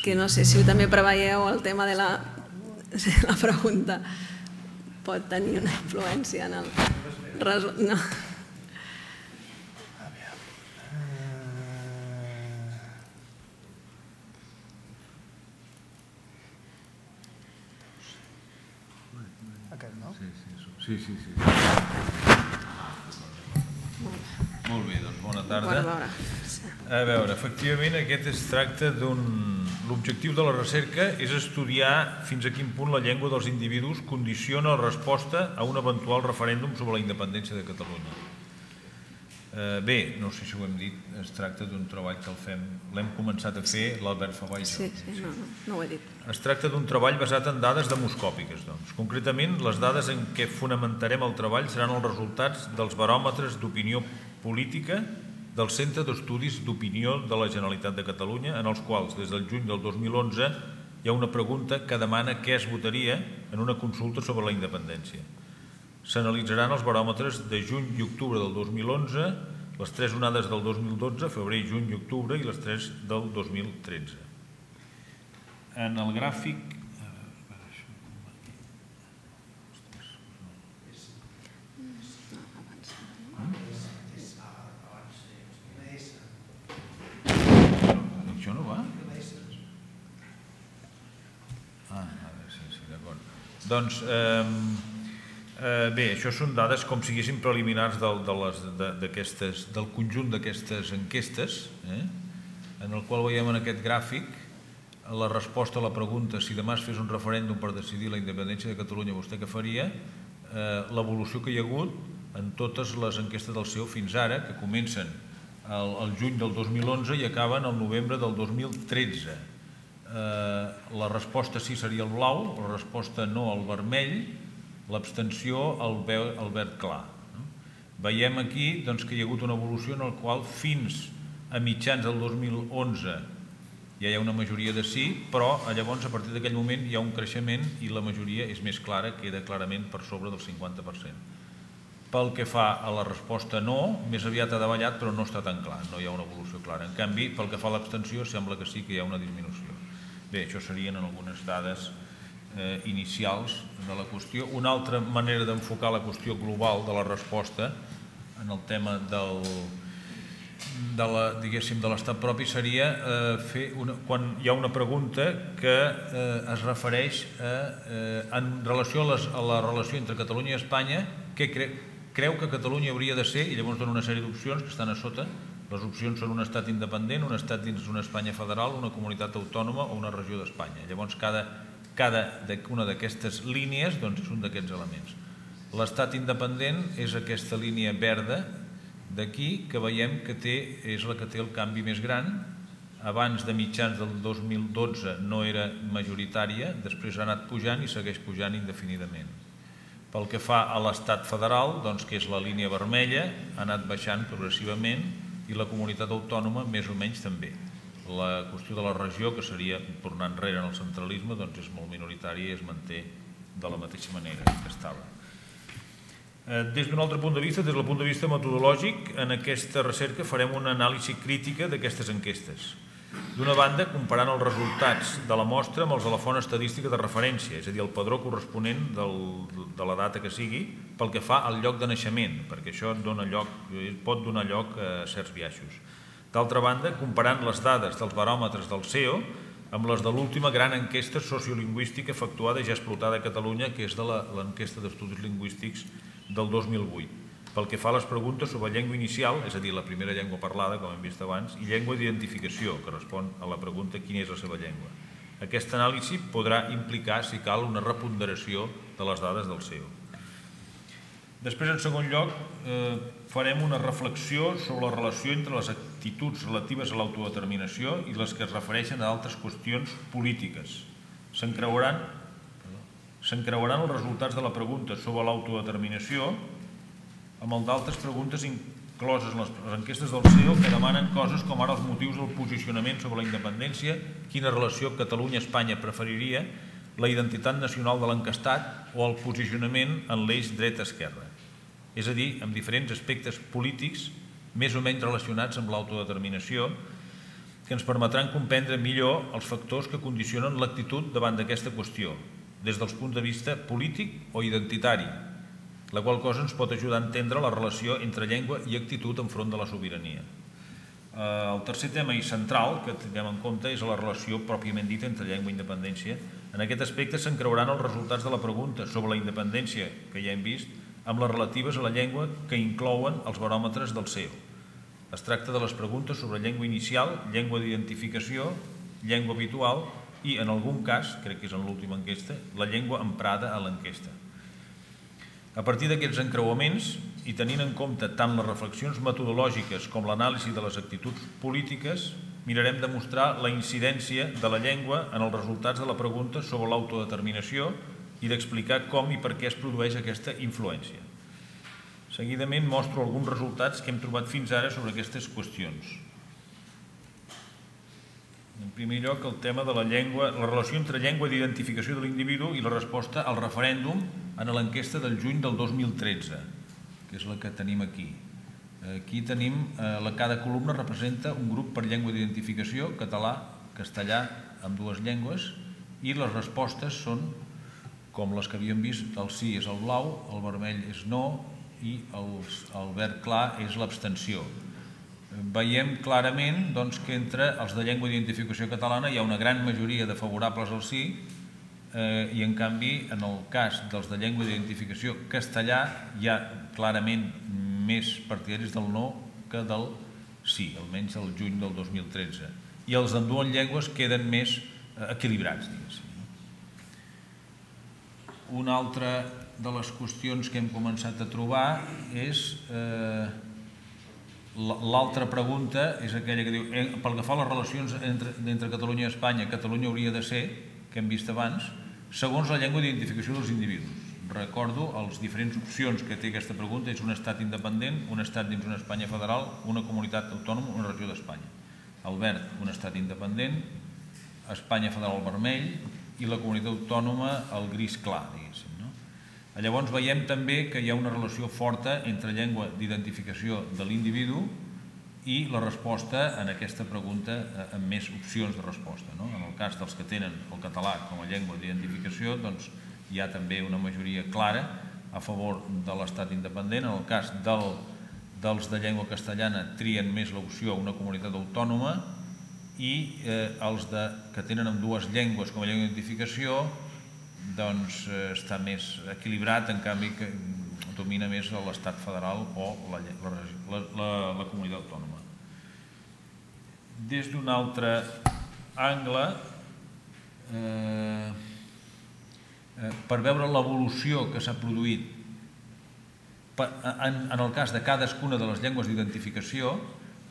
que no sé si també preveieu el tema de la pregunta pot tenir una influència en el resultat. Sí. Molt bé, doncs bona tarda. A veure, efectivament aquest es tracta l'objectiu de la recerca és estudiar fins a quin punt la llengua dels individus condiciona la resposta a un eventual referèndum sobre la independència de Catalunya. Bé, no sé si ho hem dit, es tracta d'un treball que l'hem començat a fer l'Albert Fabà i jo. Sí, no ho he dit. Es tracta d'un treball basat en dades demoscòpiques. Concretament, les dades en què fonamentarem el treball seran els resultats dels baròmetres d'opinió política del Centre d'Estudis d'Opinió de la Generalitat de Catalunya, en els quals, des del juny del 2011, hi ha una pregunta que demana què es votaria en una consulta sobre la independència. S'analitzaran els baròmetres de juny i octubre del 2011, les 3 onades del 2012, febrer, juny i octubre, i les 3 del 2013. En el gràfic... Això no va? Doncs, bé, això són dades com si siguessin preliminars del conjunt d'aquestes enquestes, en el qual veiem en aquest gràfic la resposta a la pregunta si demà es fes un referèndum per decidir la independència de Catalunya, vostè què faria? L'evolució que hi ha hagut en totes les enquestes del CEO fins ara, que comencen al juny del 2011 i acaben al novembre del 2013. La resposta sí seria el blau, la resposta no el vermell, l'abstenció el verd clar. Veiem aquí que hi ha hagut una evolució en la qual fins a mitjans del 2011 ja hi ha una majoria de sí, però llavors a partir d'aquell moment hi ha un creixement i la majoria és més clara, queda clarament per sobre del 50%. Pel que fa a la resposta no, més aviat ha davallat, però no està tan clar, no hi ha una evolució clara. En canvi, pel que fa a l'abstenció, sembla que sí que hi ha una disminució. Bé, això serien algunes dades inicials de la qüestió. Una altra manera d'enfocar la qüestió global de la resposta en el tema de l'estat propi seria fer quan hi ha una pregunta que es refereix en relació a la relació entre Catalunya i Espanya, què creu que Catalunya hauria de ser, i llavors dona una sèrie d'opcions que estan a sota. Les opcions són un estat independent, un estat dins d'una Espanya federal, una comunitat autònoma o una regió d'Espanya. Llavors cada una d'aquestes línies és un d'aquests elements. L'estat independent és aquesta línia verda d'aquí, que veiem que és la que té el canvi més gran. Abans de mitjans del 2012 no era majoritària, després ha anat pujant i segueix pujant indefinidament. Pel que fa a l'estat federal, que és la línia vermella, ha anat baixant progressivament i la comunitat autònoma més o menys també. La qüestió de la regió, que seria tornar enrere en el centralisme, és molt minoritària i es manté de la mateixa manera que estava. Des d'un altre punt de vista, des del punt de vista metodològic, en aquesta recerca farem una anàlisi crítica d'aquestes enquestes. D'una banda, comparant els resultats de la mostra amb els de la font estadística de referència, és a dir, el padró corresponent de la data que sigui, pel que fa al lloc de naixement, perquè això pot donar lloc a certs biaixos. D'altra banda, comparant les dades dels baròmetres del CEO amb les de l'última gran enquesta sociolingüística efectuada i ja explotada a Catalunya, que és de l'enquesta d'estudis lingüístics del 2008. Pel que fa a les preguntes sobre llengua inicial, és a dir, la primera llengua parlada, com hem vist abans, i llengua d'identificació, que respon a la pregunta quina és la seva llengua. Aquesta anàlisi podrà implicar, si cal, una reponderació de les dades del CEO. Després, en segon lloc, farem una reflexió sobre la relació entre les actituds relatives a l'autodeterminació i les que es refereixen a altres qüestions polítiques. S'encreuaran els resultats de la pregunta sobre l'autodeterminació amb el d'altres preguntes incloses en les enquestes del CEO que demanen coses com ara els motius del posicionament sobre la independència, quina relació Catalunya-Espanya preferiria, la identitat nacional de l'encastat o el posicionament en l'eix dreta-esquerra. És a dir, amb diferents aspectes polítics més o menys relacionats amb l'autodeterminació que ens permetran comprendre millor els factors que condicionen l'actitud davant d'aquesta qüestió, des dels punts de vista polític o identitari, la qual cosa ens pot ajudar a entendre la relació entre llengua i actitud enfront de la sobirania. El tercer tema i central que tinguem en compte és la relació pròpiament dita entre llengua i independència. En aquest aspecte s'encreuaran els resultats de la pregunta sobre la independència, que ja hem vist, amb les relatives a la llengua que inclouen els baròmetres del CEO. Es tracta de les preguntes sobre llengua inicial, llengua d'identificació, llengua habitual i, en algun cas, crec que és en l'última enquesta, la llengua emprada a l'enquesta. A partir d'aquests encreuaments, i tenint en compte tant les reflexions metodològiques com l'anàlisi de les actituds polítiques, mirarem de mostrar la incidència de la llengua en els resultats de la pregunta sobre l'autodeterminació i d'explicar com i per què es produeix aquesta influència. Seguidament mostro alguns resultats que hem trobat fins ara sobre aquestes qüestions. En primer lloc, el tema de la llengua, la relació entre llengua d'identificació de l'individu i la resposta al referèndum en l'enquesta del juny del 2013, que és la que tenim aquí. Aquí tenim, cada columna representa un grup per llengua d'identificació, català, castellà, amb dues llengües, i les respostes són, com les que havíem vist, el sí és el blau, el vermell és no i el verd clar és l'abstenció. Veiem clarament que entre els de llengua d'identificació catalana hi ha una gran majoria de favorables al sí i en canvi en el cas dels de llengua d'identificació castellà hi ha clarament més partidaris del no que del sí, almenys el juny del 2013. I els d'ambdues llengües queden més equilibrats, diguéssim. Una altra de les qüestions que hem començat a trobar és l'altra pregunta, és aquella que diu pel que fa a les relacions entre Catalunya i Espanya, Catalunya hauria de ser, que hem vist abans, segons la llengua d'identificació dels individus. Recordo les diferents opcions que té aquesta pregunta, és un estat independent, un estat dins una Espanya federal, una comunitat autònoma, una regió d'Espanya. El verd, un estat independent, Espanya federal vermell i la comunitat autònoma el gris clar, diguéssim. Llavors veiem també que hi ha una relació forta entre llengua d'identificació de l'individu i la resposta en aquesta pregunta amb més opcions de resposta. En el cas dels que tenen el català com a llengua d'identificació, doncs hi ha també una majoria clara a favor de l'estat independent. En el cas dels de llengua castellana trien més l'opció una comunitat autònoma i els que tenen ambdues llengües com a llengua d'identificació doncs està més equilibrat, en canvi que domina més l'estat federal o la comunitat autònoma. Des d'un altre angle, per veure l'evolució que s'ha produït en el cas de cadascuna de les llengües d'identificació,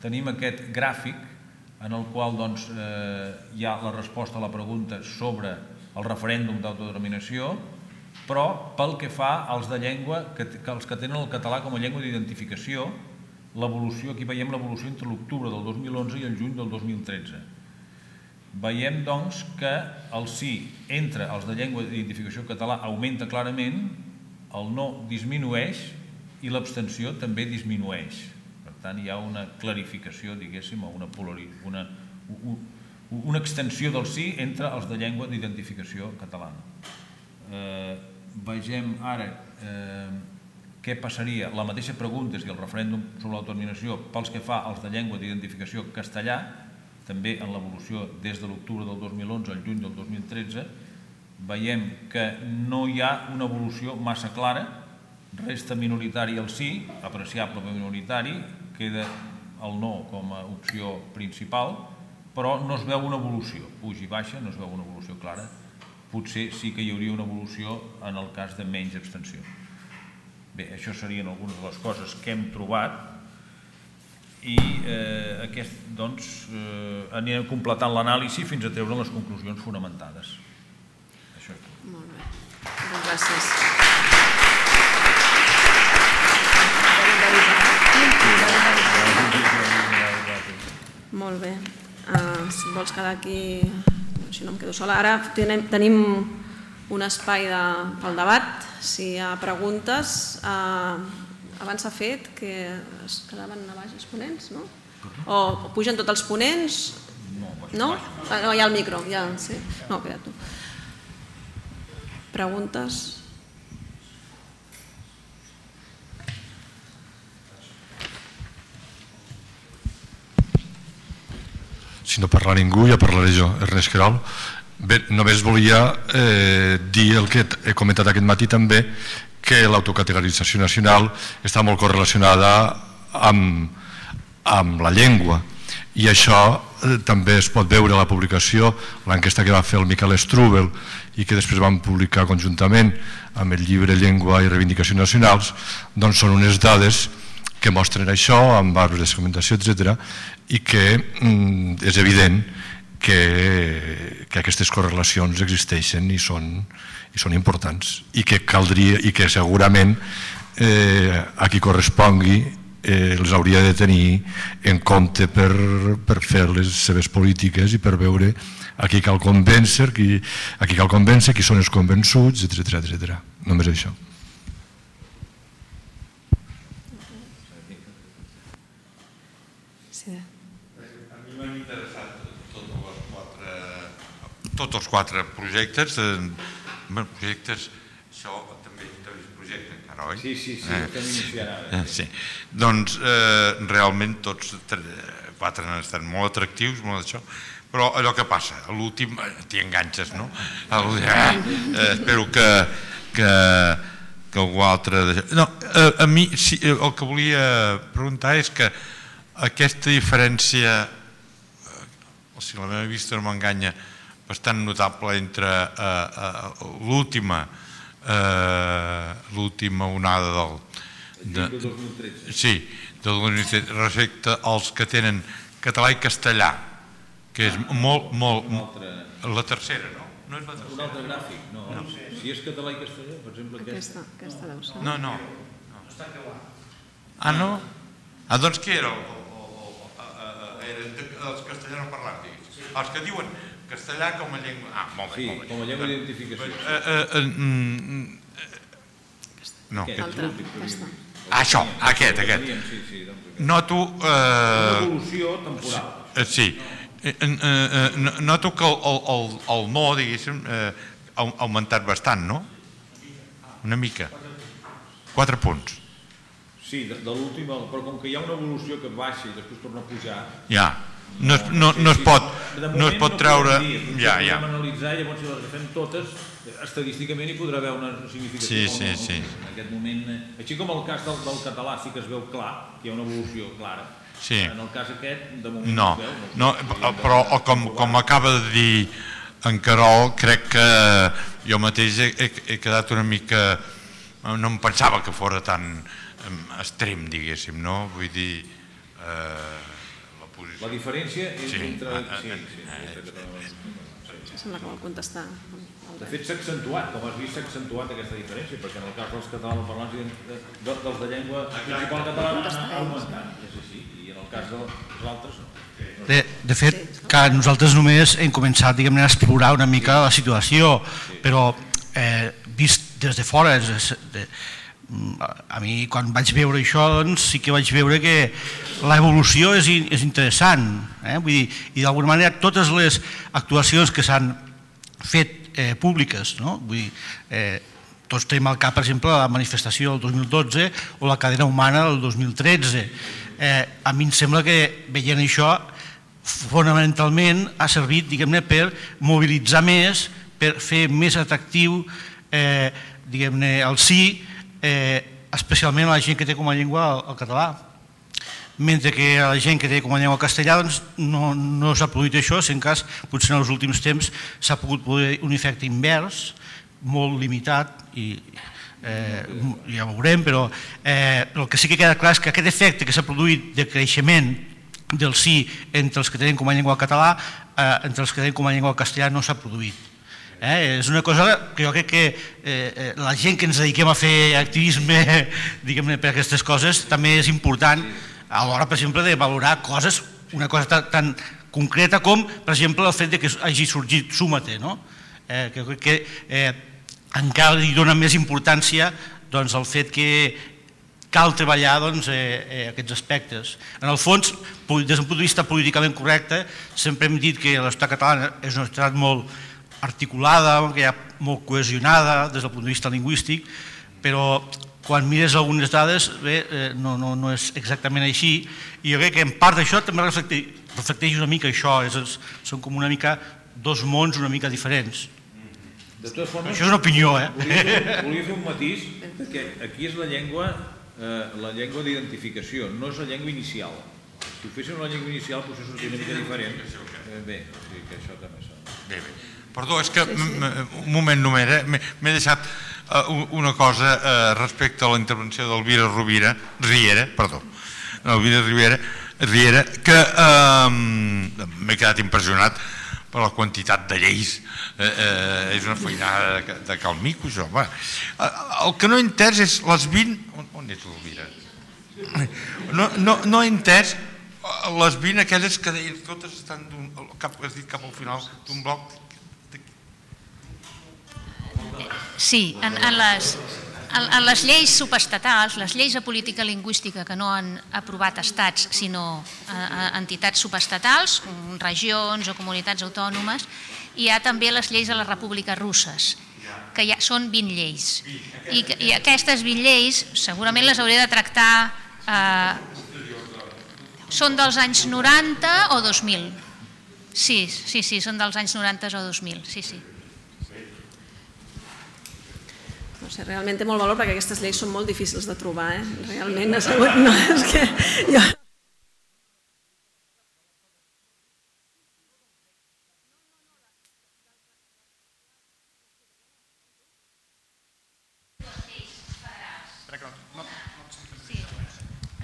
tenim aquest gràfic en el qual hi ha la resposta a la pregunta sobre el referèndum d'autodeterminació, però pel que fa als de llengua, els que tenen el català com a llengua d'identificació, l'evolució, aquí veiem l'evolució entre l'octubre del 2011 i el juny del 2013. Veiem, doncs, que el sí entre els de llengua d'identificació català augmenta clarament, el no disminueix i l'abstenció també disminueix. Per tant, hi ha una clarificació, diguéssim, o una extensió del sí entre els de llengua d'identificació catalana. Vegem ara què passaria, la mateixa pregunta si el referèndum sobre l'autodeterminació pels que fa als de llengua d'identificació castellà, també en l'evolució des de l'octubre del 2011 al juny del 2013, veiem que no hi ha una evolució massa clara, resta minoritari el sí, apreciable per minoritari, queda el no com a opció principal, però no es veu una evolució, puja i baixa, no es veu una evolució clara. Potser sí que hi hauria una evolució en el cas de menys abstenció. Bé, això serien algunes de les coses que hem trobat i anirem completant l'anàlisi fins a treure les conclusions fonamentades. Això és tot. Molt bé. Moltes gràcies. Molt bé. Si vols quedar aquí, si no em quedo sola. Ara tenim un espai pel debat. Si hi ha preguntes, abans s'ha fet que es quedaven a baix els ponents, no? O pugen tots els ponents? No? No, hi ha el micro. No, queda tu. Preguntes? Si no parla ningú, ja parlaré jo, Ernest Querol. Bé, només volia dir el que he comentat aquest matí també, que l'autocategorització nacional està molt correlacionada amb la llengua, i això també es pot veure a la publicació, l'enquesta que va fer el Miquel Strubel i que després vam publicar conjuntament amb el llibre Llengua i Reivindicacions Nacionals, doncs són unes dades que mostren això, amb arbres de segmentació, etc., i que és evident que aquestes correlacions existeixen i són importants, i que caldria, i que segurament a qui correspongui els hauria de tenir en compte per fer les seves polítiques i per veure a qui cal convèncer, qui són els convençuts, etc. Només això. A mi m'han interessat tots els quatre projectes. Projectes, això també és projecte encara. ara, oi? Sí, estem iniciant ara. Sí. Doncs realment tots 4 han estat molt atractius, molt d'això, però allò que passa, a l'últim t'hi enganxes, no? Espero que algú altre... No, a mi el que volia preguntar és que aquesta diferència, si la meva vista no m'enganya, bastant notable entre l'última onada del 2013. Sí, del 2013 respecte als que tenen català i castellà, que és molt... La tercera, no? No és la tercera. Un altre gràfic, no. Si és català i castellà, per exemple... Aquesta deu ser. No. Ah, no? Ah, doncs què era? Els castellanoparlants, digues. Els que diuen castellà com a llengua... Ah, molt bé. Sí, com a llengua d'identificació. No. Aquesta. Això, aquest. Noto... Una evolució temporal. Sí. Noto que el no, diguéssim, ha augmentat bastant, no? Una mica. 4 punts. Sí, de l'última, però com que hi ha una evolució que baixa i després torna a pujar... Ja, no es pot treure... Ja. Podem analitzar, llavors si les agafem totes, estadísticament hi podrà haver una significació. Sí. En aquest moment, així com el cas del català sí que es veu clar, que hi ha una evolució clara. Sí. En el cas aquest, de moment no es veu. No, però com acaba de dir en Carol, crec que jo mateix he quedat una mica... No em pensava que fos tan extrem, diguéssim, no? Vull dir... La diferència és entre... Sembla que vol contestar. De fet, s'ha accentuat, com has vist, s'ha accentuat aquesta diferència, perquè en el cas dels catalanoparlants dels de llengua principal catalana ha augmentat, és així, i en el cas dels altres no. De fet, que nosaltres només hem començat, diguem-ne, a explorar una mica la situació, però vist des de fora, a mi quan vaig veure això, doncs sí que vaig veure que l'evolució és interessant, vull dir, i d'alguna manera totes les actuacions que s'han fet públiques, no? Vull dir, tots tenim al cap, per exemple, la manifestació del 2012 o la cadena humana del 2013. A mi em sembla que veient això fonamentalment ha servit, diguem-ne, per mobilitzar més, per fer més atractiu, diguem-ne, el sí, especialment a la gent que té com a llengua el català. Mentre que a la gent que té com a llengua castellà no s'ha produït això, si en cas potser en els últims temps s'ha pogut produir un efecte invers, molt limitat, i ja ho veurem, però el que sí que queda clar és que aquest efecte que s'ha produït de creixement del sí entre els que tenen com a llengua català, entre els que tenen com a llengua castellà no s'ha produït. És una cosa que jo crec que la gent que ens dediquem a fer activisme, diguem-ne, per aquestes coses, també és important a l'hora, per exemple, de valorar coses, una cosa tan concreta com, per exemple, el fet que hagi sorgit Súmate, no? Que crec que encara li dona més importància al fet que cal treballar aquests aspectes. En el fons, des d'un punt de vista políticament correcte, sempre hem dit que la societat catalana és una societat molt articulada, que hi ha molt cohesionada des del punt de vista lingüístic, però quan mires algunes dades no és exactament així, i jo crec que en part d'això també reflecteix una mica això, són com una mica dos mons una mica diferents. De totes formes, això és una opinió, volia fer un matís, perquè aquí és la llengua d'identificació, no és la llengua inicial. Si ho féssim la llengua inicial potser seria una mica diferent. Bé, que això també s'ha... Bé. Perdó, és que un moment només, m'he deixat una cosa respecte a la intervenció d'Elvira Riera, que m'he quedat impressionat per la quantitat de lleis. És una feinada de calmico, això. El que no he entès és les 20... On és l'Elvira? No he entès les 20 aquelles que deien totes estan cap al final d'un bloc. Sí, en les lleis subestatals, les lleis de política lingüística que no han aprovat estats sinó entitats subestatals, regions o comunitats autònomes, hi ha també les lleis de les repúbliques russes. que són 20 lleis. I aquestes 20 lleis segurament les hauré de tractar... Són dels anys 90 o 2000? Sí, són dels anys 90 o 2000, sí. No sé, realment té molt valor perquè aquestes lleis són molt difícils de trobar, realment ha sigut... No, és que jo...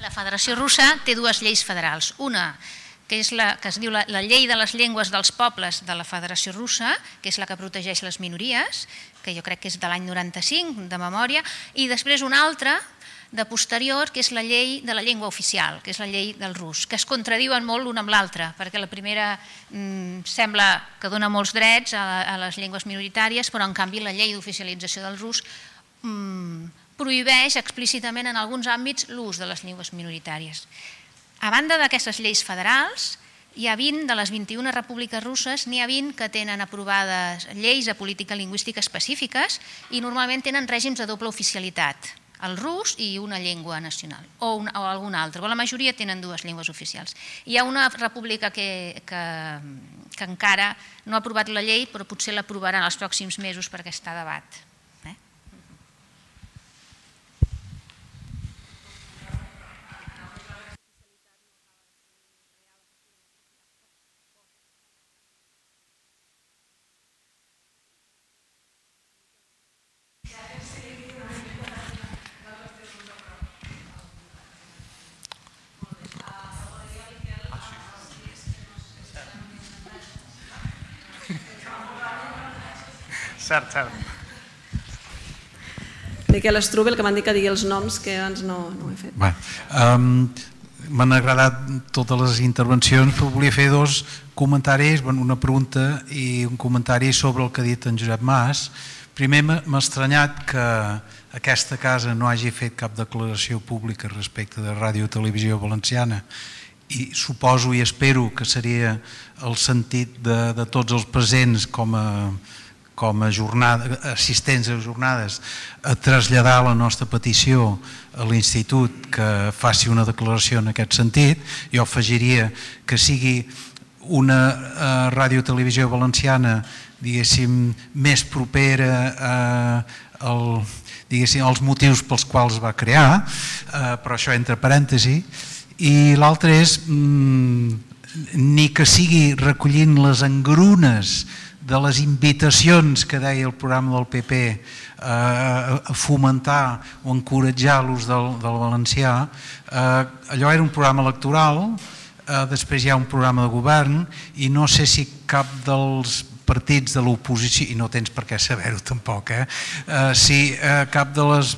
La Federació Russa té dues lleis federals. Una, que és la que es diu la Llei de les Llengües dels Pobles de la Federació Russa, que és la que protegeix les minories, que jo crec que és de l'any 95, de memòria, i després una altra, de posterior, que és la Llei de la Llengua Oficial, que és la llei del rus, que es contradiuen molt l'una amb l'altra, perquè la primera sembla que dona molts drets a les llengües minoritàries, però en canvi la llei d'oficialització del rus prohibeix explícitament en alguns àmbits l'ús de les llengües minoritàries. A banda d'aquestes lleis federals, hi ha 20 de les 21 repúbliques russes, n'hi ha 20 que tenen aprovades lleis de política lingüística específiques i normalment tenen règims de doble oficialitat, el rus i una llengua nacional, o alguna altra, però la majoria tenen dues llengües oficials. Hi ha una república que encara no ha aprovat la llei, però potser l'aprovarà en els pròxims mesos perquè està a debat. Cert. Miquel Strubel, que m'han dit que digui els noms, que abans no ho he fet. M'han agradat totes les intervencions, però volia fer dos comentaris, una pregunta i un comentari sobre el que ha dit en Josep Mas. Primer, m'ha estranyat que aquesta casa no hagi fet cap declaració pública respecte de Ràdio Televisió Valenciana, i suposo i espero que seria el sentit de tots els presents com a assistents a jornades, a traslladar la nostra petició a l'Institut que faci una declaració en aquest sentit. Jo afegiria que sigui una ràdio-televisió valenciana, diguéssim, més propera als motius pels quals va crear, però això entre parèntesi. I l'altre és ni que sigui recollint les engrunes de les invitacions que deia el programa del PP a fomentar o encoratjar l'ús del valencià. Allò era un programa electoral, després hi ha un programa de govern i no sé si cap dels partits de l'oposició, i no tens per què saber-ho tampoc, si cap dels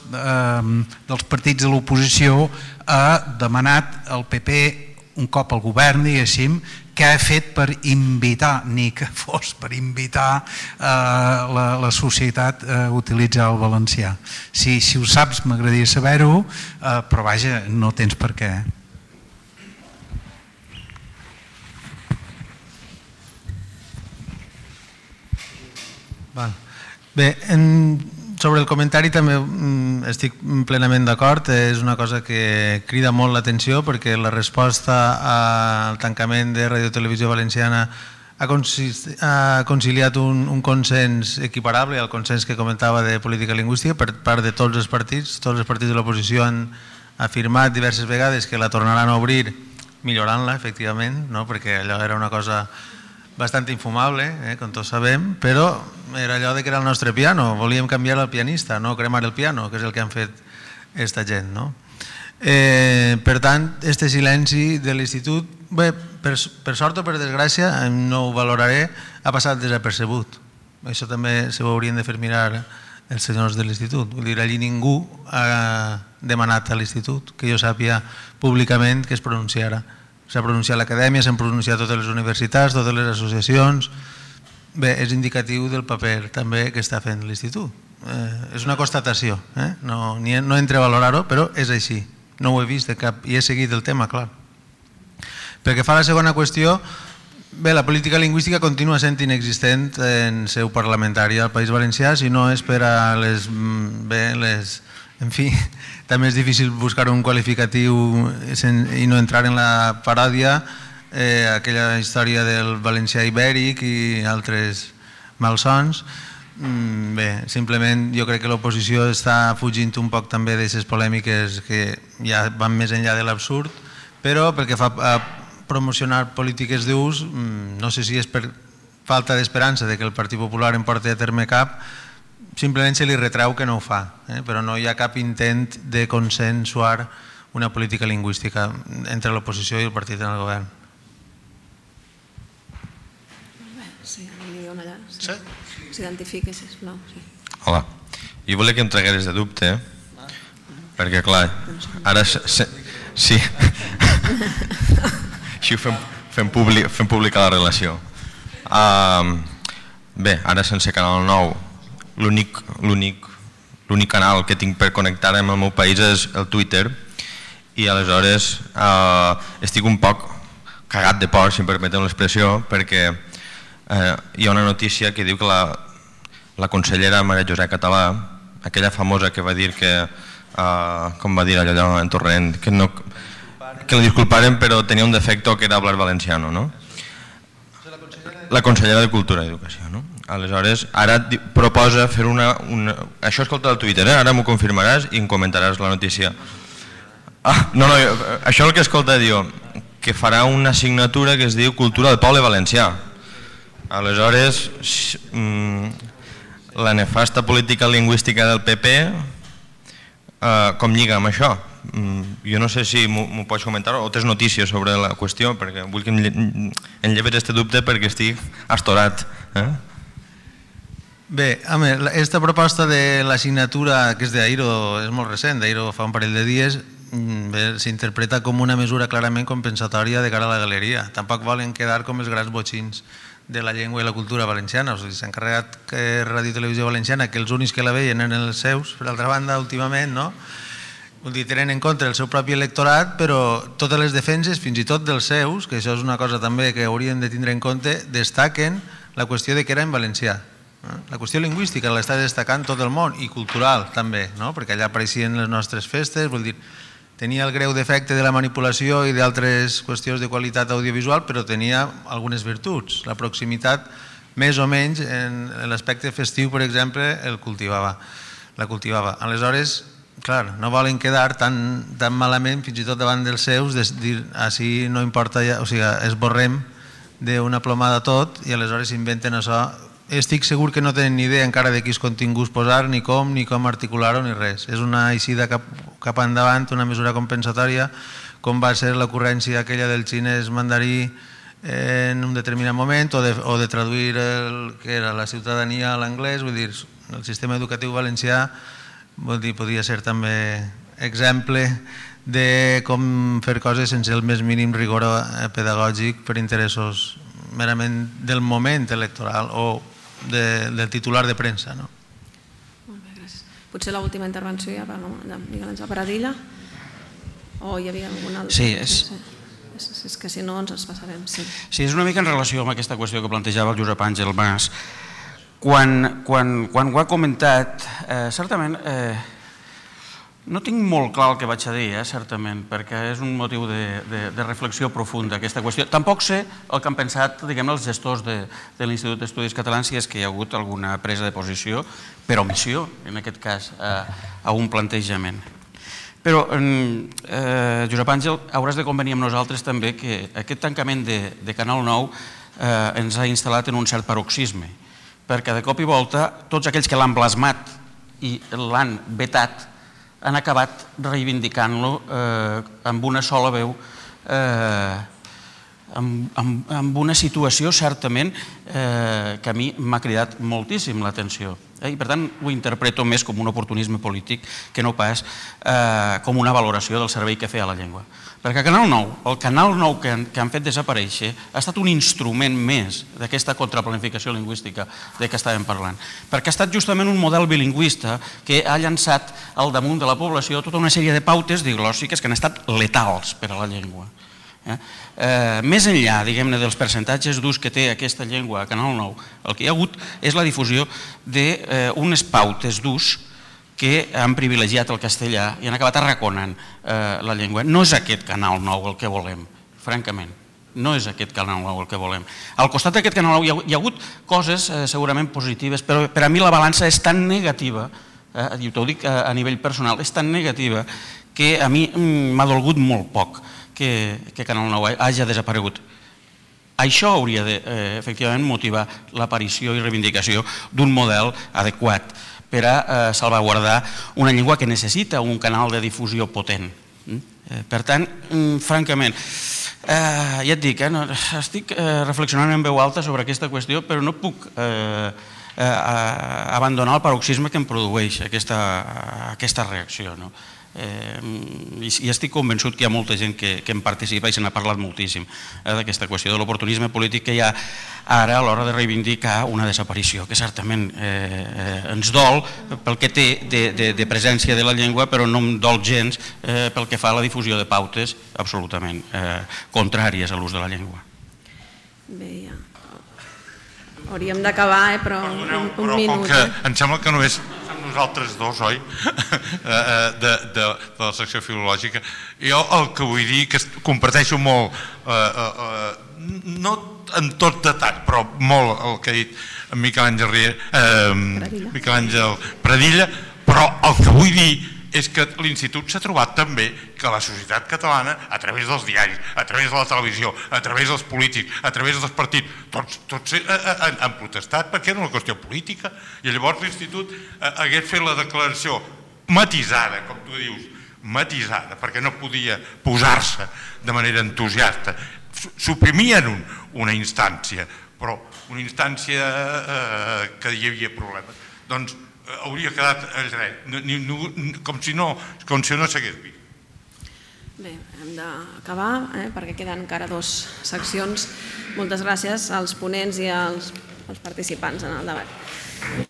partits de l'oposició ha demanat al PP un cop al govern, diguéssim, que ha fet per invitar, ni que fos per invitar la societat a utilitzar el valencià. Si ho saps, m'agradaria saber-ho, però vaja, no tens per què. Bé, sobre el comentari també estic plenament d'acord, és una cosa que crida molt l'atenció perquè la resposta al tancament de Ràdio Televisió Valenciana ha conciliat un consens equiparable al consens que comentava de política lingüística per part de tots els partits de l'oposició han afirmat diverses vegades que la tornaran a obrir millorant-la, efectivament, perquè allò era una cosa bastant infumable, com tots sabem, però era allò de que era el nostre piano, volíem canviar el pianista, no cremar el piano, que és el que han fet aquesta gent. Per tant, aquest silenci de l'institut, bé, per sort o per desgràcia, no ho valoraré, ha passat desapercebut. Això també s'ho haurien de fer mirar els senyors de l'institut. Vull dir, allí ningú ha demanat a l'institut que jo sàpiga públicament que es pronunciara. S'ha pronunciat l'acadèmia, s'han pronunciat totes les universitats, totes les associacions. Bé, és indicatiu del paper també que està fent l'Institut. És una constatació, no entre a valorar-ho, però és així. No ho he vist de cap i he seguit el tema, clar. Pel que fa a la segona qüestió, Bé, la política lingüística continua sent inexistent en seu parlamentària al País Valencià, si no és per a les... En fi, també és difícil buscar un qualificatiu i no entrar en la paròdia, aquella història del valencià ibèric i altres malsons. Bé, simplement jo crec que l'oposició està fugint un poc també d'aquestes polèmiques que ja van més enllà de l'absurd, però pel que fa a promocionar polítiques d'ús, no sé si és per falta d'esperança de que el Partit Popular en porti a terme cap, simplement se li retreu que no ho fa, però no hi ha cap intent de consensuar una política lingüística entre l'oposició i el partit en el govern. Sí, allà. S'identifiqui, sisplau. Hola, jo volia que em tragueres de dubte, perquè clar, ara sí, així fem pública la relació. Bé, ara sense Canal 9, l'únic canal que tinc per connectar amb el meu país és el Twitter, i aleshores estic un poc cagat de por, si em permeteu l'expressió, perquè hi ha una notícia que diu que la consellera Maria José Català, aquella famosa que va dir que, com va dir allò en Torrent, que la disculparen però tenia un defecte que era hablar valenciano, no? La consellera de Cultura i Educació, no? Aleshores, ara proposa fer una... Això escolta al Twitter, ara m'ho confirmaràs i em comentaràs la notícia. No, això és el que escolta, diu, que farà una assignatura que es diu Cultura del Poble Valencià. Aleshores, la nefasta política lingüística del PP, com lliga amb això? Jo no sé si m'ho pots comentar o tens notícies sobre la qüestió, perquè vull que em lleves aquest dubte perquè estic astorat. Bé, aquesta proposta de l'assignatura que és d'Airo és molt recent, d'Airo fa un parell de dies, s'interpreta com una mesura clarament compensatòria de cara a la galeria. Tampoc volen quedar com els grans botxins de la llengua i la cultura valenciana. S'ha encarregat que Ràdio i Televisió Valenciana, que els únics que la veien eren els seus, per altra banda, últimament, no? Tenen en compte el seu propi electorat, però totes les defenses, fins i tot dels seus, que això és una cosa també que haurien de tindre en compte, destaquen la qüestió de que era en valencià. La qüestió lingüística l'està destacant tot el món, i cultural també, perquè allà apareixien les nostres festes, vull dir, tenia el greu defecte de la manipulació i d'altres qüestions de qualitat audiovisual, però tenia algunes virtuts. La proximitat, més o menys, en l'aspecte festiu, per exemple, la cultivava. Aleshores, clar, no volen quedar tan malament, fins i tot davant dels seus, de dir, així no importa, o sigui, esborrem d'una plomada tot i aleshores inventen això. Estic segur que no tenen ni idea encara de quins continguts posar, ni com articular-ho, ni res. És una eixida cap endavant, una mesura compensatòria, com va ser l'ocurrència aquella del xinès mandarí en un determinat moment, o de traduir el que era la ciutadania a l'anglès. Vull dir, el sistema educatiu valencià podria ser també exemple de com fer coses sense el més mínim rigor pedagògic per interessos merament del moment electoral o del titular de premsa. Molt bé, gràcies. Potser l'última intervenció ja per Miguel Àngel Paradilla? O hi havia alguna altra? Sí, és que si no ens passarem. Sí, és una mica en relació amb aquesta qüestió que plantejava el Josep Àngel Mas. Quan ho ha comentat, certament, no tinc molt clar el que vaig a dir, certament, perquè és un motiu de reflexió profunda, aquesta qüestió. Tampoc sé el que han pensat, diguem, els gestors de l'Institut d'Estudis Catalans, si és que hi ha hagut alguna presa de posició, per omissió, en aquest cas, a un plantejament. Però, Josep Àngel, hauràs de convenir amb nosaltres també que aquest tancament de Canal 9 ens ha instal·lat en un cert paroxisme, perquè de cop i volta tots aquells que l'han blasmat i l'han vetat han acabat reivindicant-lo amb una sola veu, amb una situació certament que a mi m'ha cridat moltíssim l'atenció. I per tant ho interpreto més com un oportunisme polític que no pas com una valoració del servei que feia la llengua. Perquè el Canal 9 que han fet desaparèixer ha estat un instrument més d'aquesta contraplanificació lingüística de què estàvem parlant. Perquè ha estat justament un model bilingüista que ha llançat al damunt de la població tota una sèrie de pautes diglòssiques que han estat letals per a la llengua. Més enllà, diguem-ne, dels percentatges d'ús que té aquesta llengua a Canal 9, el que hi ha hagut és la difusió d'unes pautes d'ús que han privilegiat el castellà i han acabat arraconant la llengua. No és aquest Canal 9 el que volem, francament. No és aquest Canal 9 el que volem. Al costat d'aquest Canal 9 hi ha hagut coses segurament positives, però per a mi la balança és tan negativa, i t'ho dic a nivell personal, és tan negativa que a mi m'ha dolgut molt poc que Canal 9 hagi desaparegut. Això hauria de, efectivament, motivar l'aparició i reivindicació d'un model adequat per a salvaguardar una llengua que necessita un canal de difusió potent. Per tant, francament, ja et dic, estic reflexionant en veu alta sobre aquesta qüestió, però no puc abandonar el paroxisme que em produeix aquesta reacció. I estic convençut que hi ha molta gent que en participa i se n'ha parlat moltíssim d'aquesta qüestió de l'oportunisme polític que hi ha ara a l'hora de reivindicar una desaparició, que certament ens dol pel que té de presència de la llengua, però no em dol gens pel que fa a la difusió de pautes absolutament contràries a l'ús de la llengua. Bé, ja. Hauríem d'acabar, però un minut. Em sembla que només nosaltres dos, oi? De la secció filològica. Jo el que vull dir que comparteixo molt, no en tot detall, però molt el que ha dit Miquel Àngel Pradilla, però el que vull dir és que l'Institut s'ha trobat també que la societat catalana, a través dels diaris, a través de la televisió, a través dels polítics, a través dels partits, tots han protestat perquè era una qüestió política, i llavors l'Institut hagués fet la declaració matisada, com tu dius, matisada, perquè no podia posar-se de manera entusiasta. Suprimien una instància, però una instància que hi havia problemes. Doncs hauria quedat com si no s'hagués vist. Bé, hem d'acabar perquè queden encara 2 seccions. Moltes gràcies als ponents i als participants en el debat.